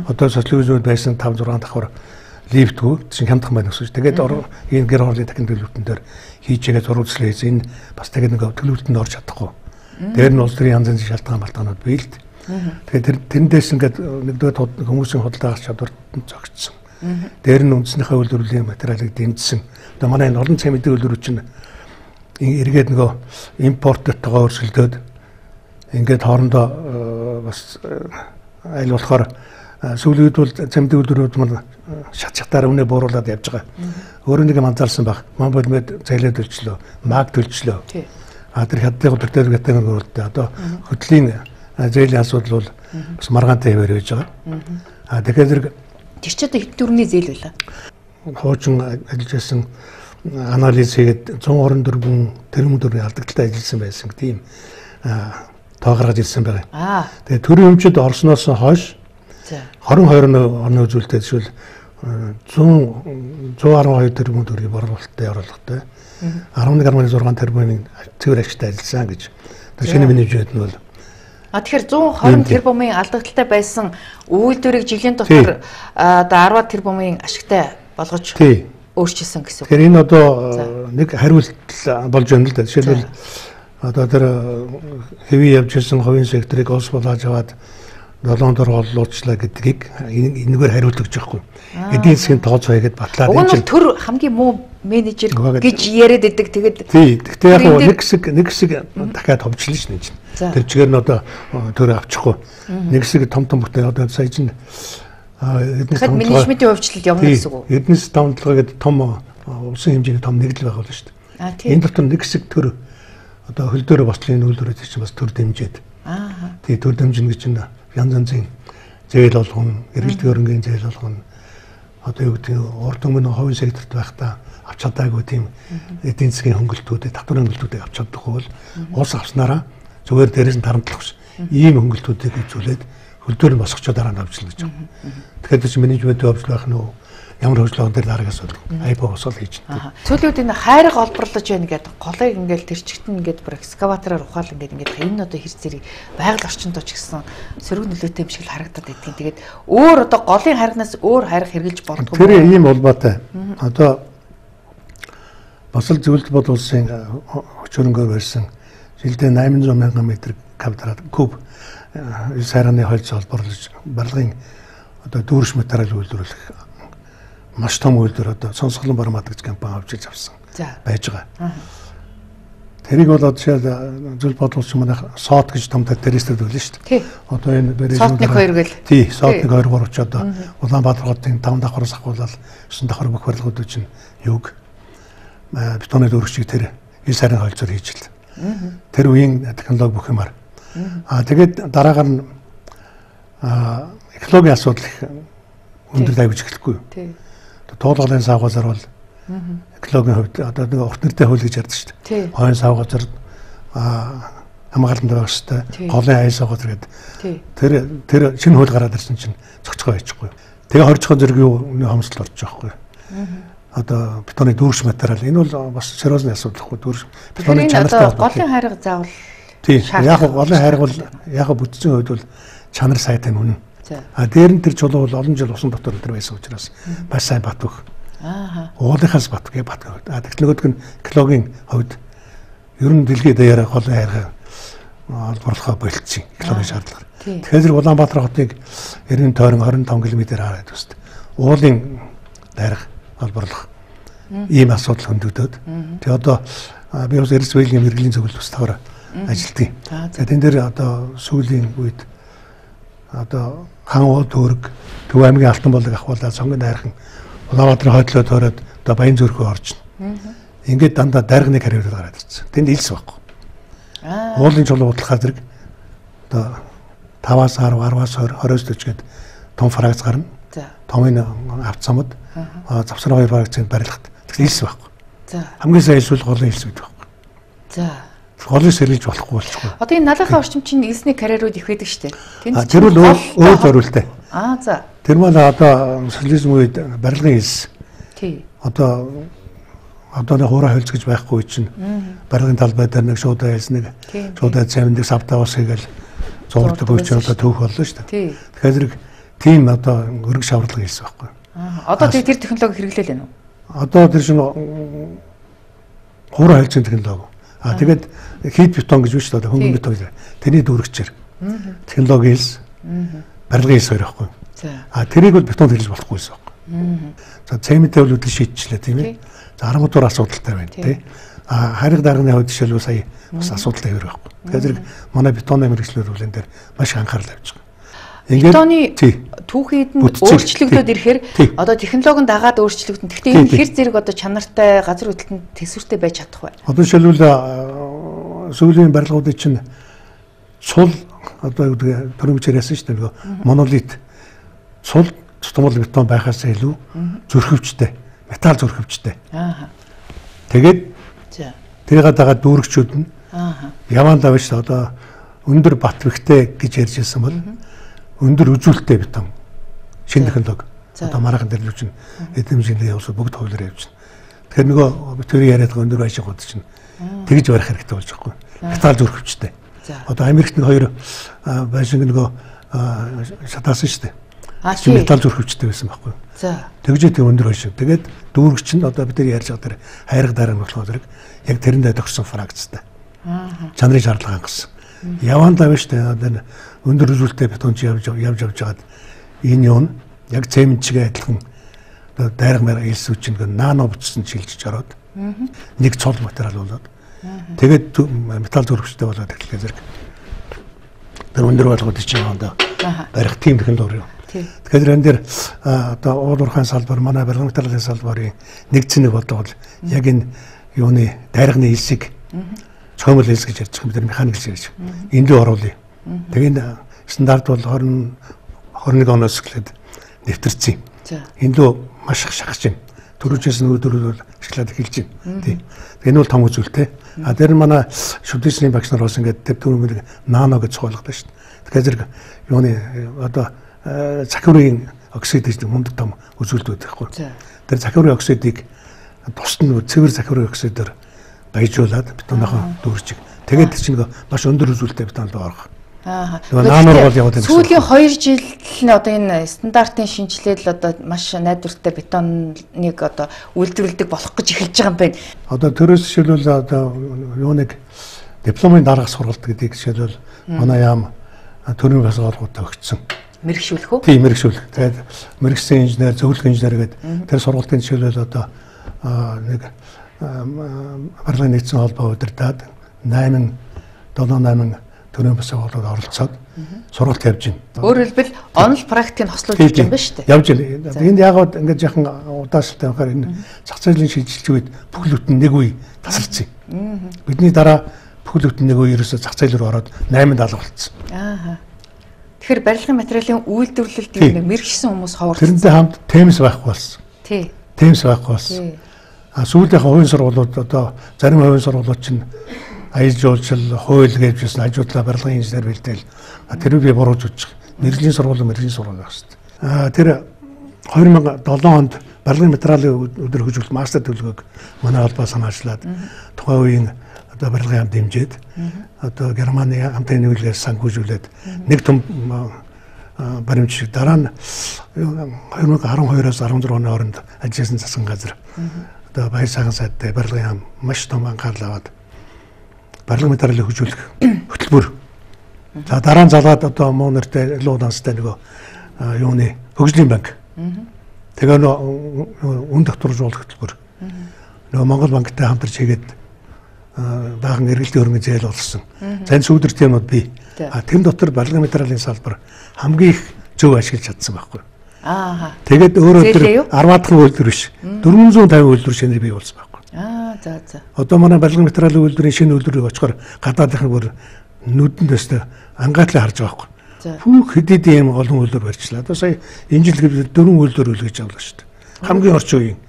Одоо социализмд байсан 5-6 давхар лифтгүй чинь хямдхан байна гэсэн. Тэгээд энэ гэр хорлын дахин төлөвлөлтөн дээр хийжээгээ зурвалжлаа хийсэн. Энэ бас тэгээд нэг төлөвлөлтөнд орж чадахгүй. Дээр нь улс төрийн янз янзын шалтгаанууд бий л дээ. Тэгээд тэрнээс ингээд нэгдүгээр хүмүүсийн худалдаа авах чадварт зогссон. Дээр нь үндснийхээ үйлдвэрлэлийн материалыг дэмжсэн. Одоо манай энэ олон цагийн мэдээ үйлдвэрүүд чинь эргээд нөгөө импорттойгоо өрсөлдөөд ингээд хоорондоо бас айл болохоор сүүлийн үед бол цамдын үйлдвэрүүд маань шатаар өнөө бууруулад явж байгаа. Өөрөө нэг юм анзаарсан баг. Монболмед цайлаа төлчлөө, маг төлчлөө. Тэр хятадын хөдөлтөд гэдэг нь өөрөлдөө одоо хөдлийн зээлийн асуудал бол бас маргаантай яваар байж байгаа. Тэгэхээр зэрэг тэр ч одоо хэд төгрөгийн зээл байлаа. Хуучин ажиллаж байсан анализ хийгээд 124 тэрбум төгрөгийн алдагдaltaй ажилласан байсан тийм тоо гаргаж ирсэн байгаа. Тэгээ төрийн өмчөд орсноос хойш 22 оны үзүүлэлтээр жишээл 112 тэрбум төгрөгийн борлуулалттай оруулалттай 11.6 тэрбумын цэвэр ашигтай ажилласан гэж. Тэр шинэ менежмент нь бол тэгэхээр 120 тэрбумын алдагдaltaй байсан үйлдвэрийг жилийн дотор одоо 10 тэрбумын ашигтай болгож өөрчилсөн гэсэн үг. Тэгэхээр энэ одоо нэг хариулт болж байна л да. Жишээлбэл одоо тэр хэвийн явж ирсэн хувийн секторыг улс болоод аваад 7 дор олуулчлаа гэдгийг энэгээр хариулт өгч байхгүй. Эдийн засгийн тооцоо хийгээд батлаад энэ чинь төр хамгийн муу менежер гэж яриад идэг. Тэгээд гэхдээ яг нэг хэсэг дахиад ховчлоо шнэ чинь. Тэр чигээр нь одоо төр авчихгүй. Нэг хэсэг том бүтээн одоо сая чинь эднээс менежментийн хувьчлалд явна гэсэн үг. Эднээс тавталгаа гэдэг том улсын хэмжээний том нэгдэл байх болно шүү дээ. Энэ дотор нэг хэсэг төр одоо хөл дээр бослын үйлдвэрүүд чинь бас төр дэмжиж. Тэгээ төр дэмжинэ гэж чинь янз янзын зээл болгоно, эргэлт хөрөнгөний зээл болгоно. Одоо юу гэдэг урд өмнө хувийн секторт байхдаа авч чадаагүй тийм эдийн засгийн хөнгөлтүүдийг, татварын хөнгөлтүүдийг авч чадахгүй бол улс авснараа зүгээр дээрээс нь тарамтлах ш. Ийм хөнгөлтүүдийг үзүүлээд хөлдөөр нь босгочоо дараа нь авчлаа гэж байна. Тэгэхээр чи менежментийн хөвжил байх нь ямар хөвжлөөн дээр дараагаас бол айбо босол хийж байна. Сүүлийн үед энэ хайрыг олборлож байна гэдэг голыг ингээл тэрчгт нь ингээд бүр экскаватороор ухаал ингээд энэ одоо хэр зэрэг байгаль орчинд ч гэсэн сөрөг нөлөөтэй юм шиг л харагдаад байдгийг. Тэгээд өөр одоо голын хайрнаас өөр хайр хэрэгжилж болдгоо. Тэр ийм улбаатай. Одоо босол зөвлөлт бод улсын хөрөнгөөр барьсан жилдээ 800 мянган метр куб сайраны хольц олборлож барилгын одоо дүүрш материал үйлдвэрлэх маш том үйлдвэр одоо Сонсголон Бармад гэж компани авчиж авсан байж байгаа. Тэрийг бол жишээл зөвлөлт бод улсын манай сот гэж том террористүүд байлаа шүү дээ. Одоо энэ сотник 2 гэл. Тий, сотник 2 3 ч одоо Улаанбаатар хотын 5 давхраас ахуулаад 9 давхар бүх барилгууд чинь юг бетоны дүүргчийг тэр 9 сарын хольцоор хийж л. Тэр үеийн технологи бүх юмар. Тэгээд дараагаар нь экологийн асуудал их өндөр давж эхэлэхгүй. Туулгалын савгаазар бол экологийн хувьд одоо нэг урт нэртэй хууль гэж ярьдаг шүү дээ. Хойн савгаазар хамгаалалтанд байх хэрэгтэй. Голын аял савгаазар гэдэг. Тэр шинэ хууль гараад ирсэн чинь цогцгоо байчихгүй. Тэгээ хоржихын зэрэг юу хомсдол орж байгаа байхгүй. Одоо бетоны дүүрш материал энэ бол бас сериозны асуудал хгүй дүүрш бетоны чанартай голын хайрга заавал тийм яг голын хайрга бол яг бүтцийн хувьд бол чанар сайтай үнэн. Дээр нь тэр чулуу бол олон жил усан дотор өдр байсан учраас бас сайн бат өг. Уулынхаас бат гэ бат. Технологид нь экологийн хувьд ер нь дэлхийд даяараа голын хайрга олборлохоо болчихсон экологийн шаардлага. Тэгэхээр Улаанбаатар хотыг 90 тойрон 25 км хараад үст. Уулын дайрах олборлох ийм асуудал хөндөгдөд. Тэгээ одоо би бас Эрсвэлийн мэрэгжлийн зөвлөлт устгаар ажилтгийг. Тэгээд энэ дээр одоо сүүлийн үед одоо хан уу төрөг Төв аймгийн Алтан болог ахуулаад сонгон дайрхан Улаанбаатарын хойдлоо тойроод одоо Баян зүрхөө орж. Ингээд дандаа дайрганы карьер гараад ирсэн. Тэнд илс байхгүй. Уулын чулуу бодлохаар зэрэг одоо 5-аас 10, 10-аас 20, 20-с 40 гээд том фракц гарна. Томын автцамд завсар 2 фракцыг барилгад илс байхгүй. Хамгийн сайн илс бол голын илс гэдэг байхгүй. Голын сэргийлж болохгүй болчихгүй. Одоо энэ налахын орчимчин илсний карьерууд их байдаг шүү дээ. Тэр бол өөр зориултай. За. Тэр маань одоо социализм үед барилгын илс. Одоо нэг хуурай хөлц гэж байхгүй чинь барилгын талбай дээр нэг шуудаа илс нэг шуудаа цавндаг савтаа ус хийгээл зурдаг үуч одоо төөх боллоо шүү дээ. Тэгэхээр тийм одоо өрг шавралгын илс байхгүй. Одоо тэр технологи хэрэглээл байна уу? Одоо тэр чинь хураа хэлцэн технологи. Тэгээд хийд бетон гэж биш одоо хөнгөн бетон гэж. Тэрний дүүрэгчээр. Технологи хэлс. Барилгын хэлс хоёр байхгүй. Тэрийг бол бетонд хэлж болохгүйсэн байхгүй. За цементтэй бол үдэл шийдчихлээ тийм ээ. За арматур асуудалтай байна тий. Хариг дарганы хувьд жишээлбэл сая бас асуудалтай хэр байхгүй. Тэгэхээр манай бетоны мэрэгчлэр үл энэ дээр маш анхаарал авч байгаа. Бетоны түүхийд нь өөрчлөгдөд ирэхээр одоо технологийн дагаад өөрчлөгдөн. Гэхдээ энэ хэр зэрэг одоо чанартай газар хөдлөлтөнд төсвөртэй байж чадах вэ? Одоо жишээлбэл сүүлийн барилгуудын чинь цул одоо төрөмж яриасан шүү дээ. Нөгөө монолит цул тутамдал бетон байхаас илүү зөрхөвчтэй, металл зөрхөвчтэй. Тэгээд тэрийг дагаад дүүрэгчүүд нь яваандаа биш одоо өндөр бат бэхтэй гэж ярьж ирсэн бол өндөр үзүүлэлттэй бетон шинэ технологи одоо маргаан дээр л чинь эдэмжинд явуулсан бүгд хуулиар явж байна. Тэгэхээр нөгөө битүүрийн яриад байгаа өндөр байшингууд чинь тэгж барих хэрэгтэй болж байгаа юм. Металл зөрхөвчтэй. Одоо Америкт нэг хоёр байшинг нөгөө шатаасан шүү дээ. Металл зөрхөвчтэй байсан байхгүй юу? Тэгжээ тэг өндөр байшинг. Тэгээд дүүрэгч нь одоо бид нар ярьж байгаа тэр хайраг дараа нь болохоор зэрэг яг тэрэндээ төгссөн фракцтай. Чанарын шаардлага хангасан. Яваандаа биш дээ одоо өндөр үзүүлэлттэй бетонч явж байгаад энэ юу яг цементчгээ адилхан одоо дайраг маяг хэлсүүч нэг нано бүтсэн шилжиж ороод нэг цол материал болоод тэгээд металл зөрхөвчтэй болоод эхлэхээр зэрэг тэр өндөр болгоод чинь яваандаа барих тийм технологи юу. Тэгэхээр энэ дээр одоо уулуурхайн салбар манай барилгын материалын салбарын нэг цэник болдог бол яг энэ юуны дайрагны хэлсийг цөмөл хэлс гэж ярьж байгаа бид нар механик хэлс гэж. Энд рүү оруулъя. Тэгээд стандарт бол 21 оноос эхлээд нэвтэрсэн. Энд рүү маш их шахаж байна. Төрөжөөс нь өдрөөр бол ашиглаад эхэлж байна. Тийм. Энэ бол том үзүүлэлт. Тэр манай шүдээсний багш нар бас ингээд тэр түрүүн нано гэж цоглогдсон шүү дээ. Тэгэхээр зэрэг юуны одоо цахиурын оксид гэж мундаг том үзүүлэлтүүд байхгүй. Тэр цахиурын оксидыг тусад нь цэвэр цахиурын оксидээр баяжуулаад бетоныхоо дүүрчиг. Тэгээд чинь маш өндөр үзүүлэлттэй бетон руу орох. Сүүлийн 2 жил нь одоо энэ стандартын шинжилэл одоо маш найдвартай бетоныг одоо үйлдвэрлэдэг болох гэж эхэлж байгаа юм байна. Одоо төрөөс жишээлбэл одоо юуныг дипломын дараах сургалт гэдэг жишээлбэл манай яам төрийн бас олгуудаа өгсөн. Мэргэшүүлэх үү? Тийм, мэргэшүүлэх. Тэгээд мэргэжсэн инженер, зөвлөх инженер гэдэг тэр сургалтын жишээлбэл одоо нэг барилгын нийцсэн холбоо удирдаад 8 төрийн бас олгоод оролцоод сургалт явж байна. Өөрөөр хэлбэл онл практикийг хослуулж явж байгаа юм ба шүү дээ. Явж байна. Энд яагаад ингэж яхан удаашралтай байхаар энэ зах зээлийн шилжилт үед бүхэл бүтэн нэг үе тасалцсан. Бидний дараа бүхэл бүтэн нэг үе ерөөсө зах зээл рүү ороод 8 даалга болцсон. Тэгэхээр барилгын материалын үйлдвэрлэлд нэг мэргэжсэн хүмүүс ховорсон. Тэрнтэй хамт темс байхгүй болсон. Тий. Темс байхгүй болсон. Сүүлийнх хувийн сургуулиуд одоо зарим хувийн сургуулиуд чинь аяж жуулчил хууль гэж байсан ажуудлаа барилгын инженер бэлдээл тэр би бурууж үзэж байгаа. Мэргэжлийн сургууль байх шүү дээ. Тэр 2007 онд барилгын материалын өдөр хөгжүүлэлт мастер төлөвлөгөөг манай холбоо санаачлаад тухайн үеийн одоо барилгын хамт дэмжиж одоо Германы хамтын нийлүүлгээр санхүүжүүлээд нэг том баримт шиг дараа нь 2012-оос 16 оны хооронд ажилласан засгийн газар одоо баяр сайхан сайдтай барилгын хам маш том анхаарал аваад барилгын материалыг хөгжүүлэх хөтөлбөр. За дараа нь залгаад одоо муу нэртэй луу данстай нөгөө юуны хөгжлийн банк. Тэгээ нөө үн тогтворжуулах хөтөлбөр. Нөгөө Монгол банктай хамтарч хийгээд баахан эргэлтийн хөрөнгө зээл болсон. За энэ сүүдэрт юмуд бий. Тэр дотор барилгын материалын салбар хамгийн их зөв ашиглаж чадсан байхгүй. Тэгээд өөрөө тэр 10-аад үйлдвэр биш. 450 үйлдвэр шинээр бий болсон байхгүй. За. Одоо манай барилгын материалын үйлдвэрийн шинэ үйлдвэрийг очихоор гадаадынхан бүр нүдэндээс ангаатлаа харж байгаа байхгүй. Бүх хэдийд ийм олон үйлдвэр барьчлаа. Одоо сая энэ жил 4 үйлдвэр үлгэж авлаа шүү дээ. Хамгийн орчин үеийн.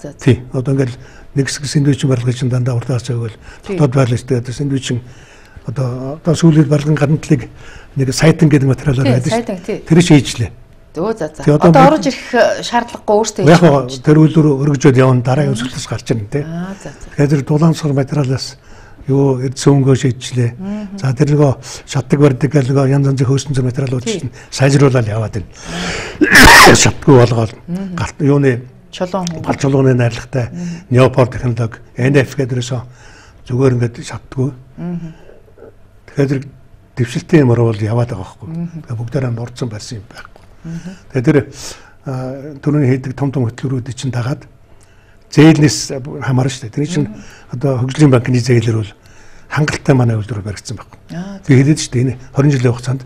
За. Тий. Одоо ингээл нэг хэсэг сэндвичийн барилгын чинь дандаа уртаас байвал дотоод байрлаж тэгээд сэндвичийн одоо сүүлийн барилгын гаднадлыг нэг сайтан гэдэг материалаар байдаг шүү. Тэр шийджлээ. За. Одоо орж ирэх шаардлагагүй өөртөө хийж байгаа. Тэр үйлдвэр өргөжөөд явна дараагийн өсөлтөс гарч ирнэ тий. Тэгэхээр тэр дулаансгар материалаас юу цөөнгөө шийдчихлээ. За тэр нөгөө шатдаг барьдаг гэл нөгөө янз янзын хөөсөн зүйн материалууд чинь сайжруулаад яваад байна. Шатгүй болгоод галт юуны чулууны найрлагатай неопор технологи NF гэдэрээс зүгээр ингээд шатдаггүй. Тэгэхээр дэвшилтийн юмар бол яваад байгаа байхгүй. Тэгээ бүгдээрээ нурдсан барьсан юм байхгүй. Тэгээ тэр түрүүний хийдэг том хөтөлбөрүүдийг чинь дагаад зээлнээс хамаарна шүү дээ. Тэр чинь одоо хөгжлийн банкны зээлэр бол хангалттай манай үйлдвэр баригдсан байхгүй. Би хэлээд шүү дээ энэ 20 жилийн хугацаанд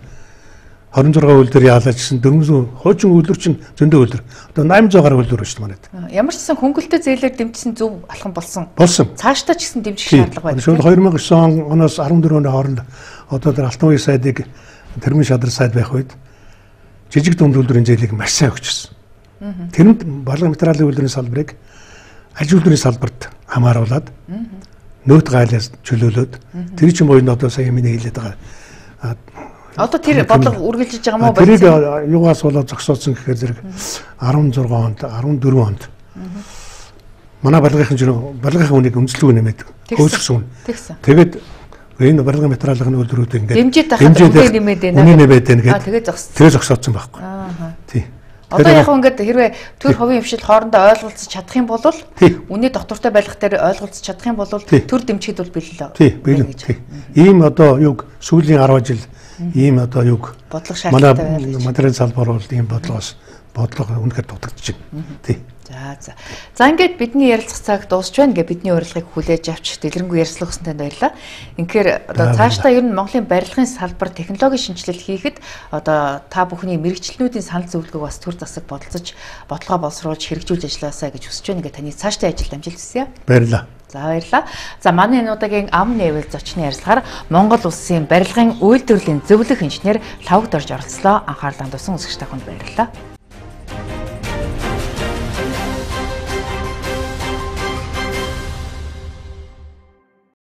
26 үйлдвэр яалаач гэсэн 400 хуучин үйлдвэр чинь зөндөө үйлдвэр. Одоо 800 гаруй үйлдвэр шүү дээ манайд. Ямар ч гэсэн хөнгөлөлтөө зээлээр дэмжсэн зөв алхам болсон. Цаашдаа ч гэсэн дэмжих шаардлага байна. Шууд 2009 оноос 14 оны хооронд одоо тэр алтан үеийн сайдыг тэрмийн шадар сайд байх үед жижиг дунд үйлдвэрийн зээлийг маш сайн өгчихсөн. Тэрэнд барилгын материалын үйлдвэрийн салбарыг аж үйлдвэрийн салбарт хамааруулад нөөц гайлаас чөлөөлөөд тэр чинь буюу одоо сая миний хэлээд байгаа. Одоо тэр бодлого үргэлжлэж байгаа мó байна. Тэрийг юугаас болоод зогсооцсон гэхээр зэрэг 16 онд 14 онд манай барилгын үнийг үнэлгээ нэмээд хөөсгсөн. Тэгээд энэ барилгын материалын үйлдвэрүүд ингээд дэмжиж нэмээд байна гэдэг. Тэгээд зогсооцсон байхгүй. Тий. Одоо яг ингээд хэрвээ төр хувийн хвшил хоорондоо ойлголцож чадах юм бол үнэ доктортой байлгах дээр ойлголцож чадах юм бол төр дэмжихэд бол бэлэн. Тий, бэлэн. Ийм одоо юг сүүлийн 10 жил ийм одоо юг бодлого шаардлагатай байна. Материал салбар бол ийм бодлого үнэхээр дутагдаж байна. Тий. За ингээд бидний ярилцах цаг дуусч байна гэ бидний урилгыг хүлээж авч дэлгэрэнгүй ярилцлага өгсөн танд баярлалаа. Инхээр одоо цаашдаа ер нь Монголын барилгын салбар технологийн шинжилэл хийхэд одоо та бүхний мэрэгчлэнүүдийн санал зөвлөгөөг бас төр засаг бодолцож бодлогоо боловсруулж хэрэгжүүлж ажилласаа гэж хүсэж байна гэ таны цаашдаа ажил амжилт хүсье. Баярлалаа. За баярлалаа. За манай энэ удаагийн ам нээвэл зочны ярилцлагаар Монгол улсын барилгын үйлдвэрлэлийн зөвлөх инженер Лавгд орж оролцлоо. Анхаарлаа туссан үзэгч та бүхэнд баярлалаа.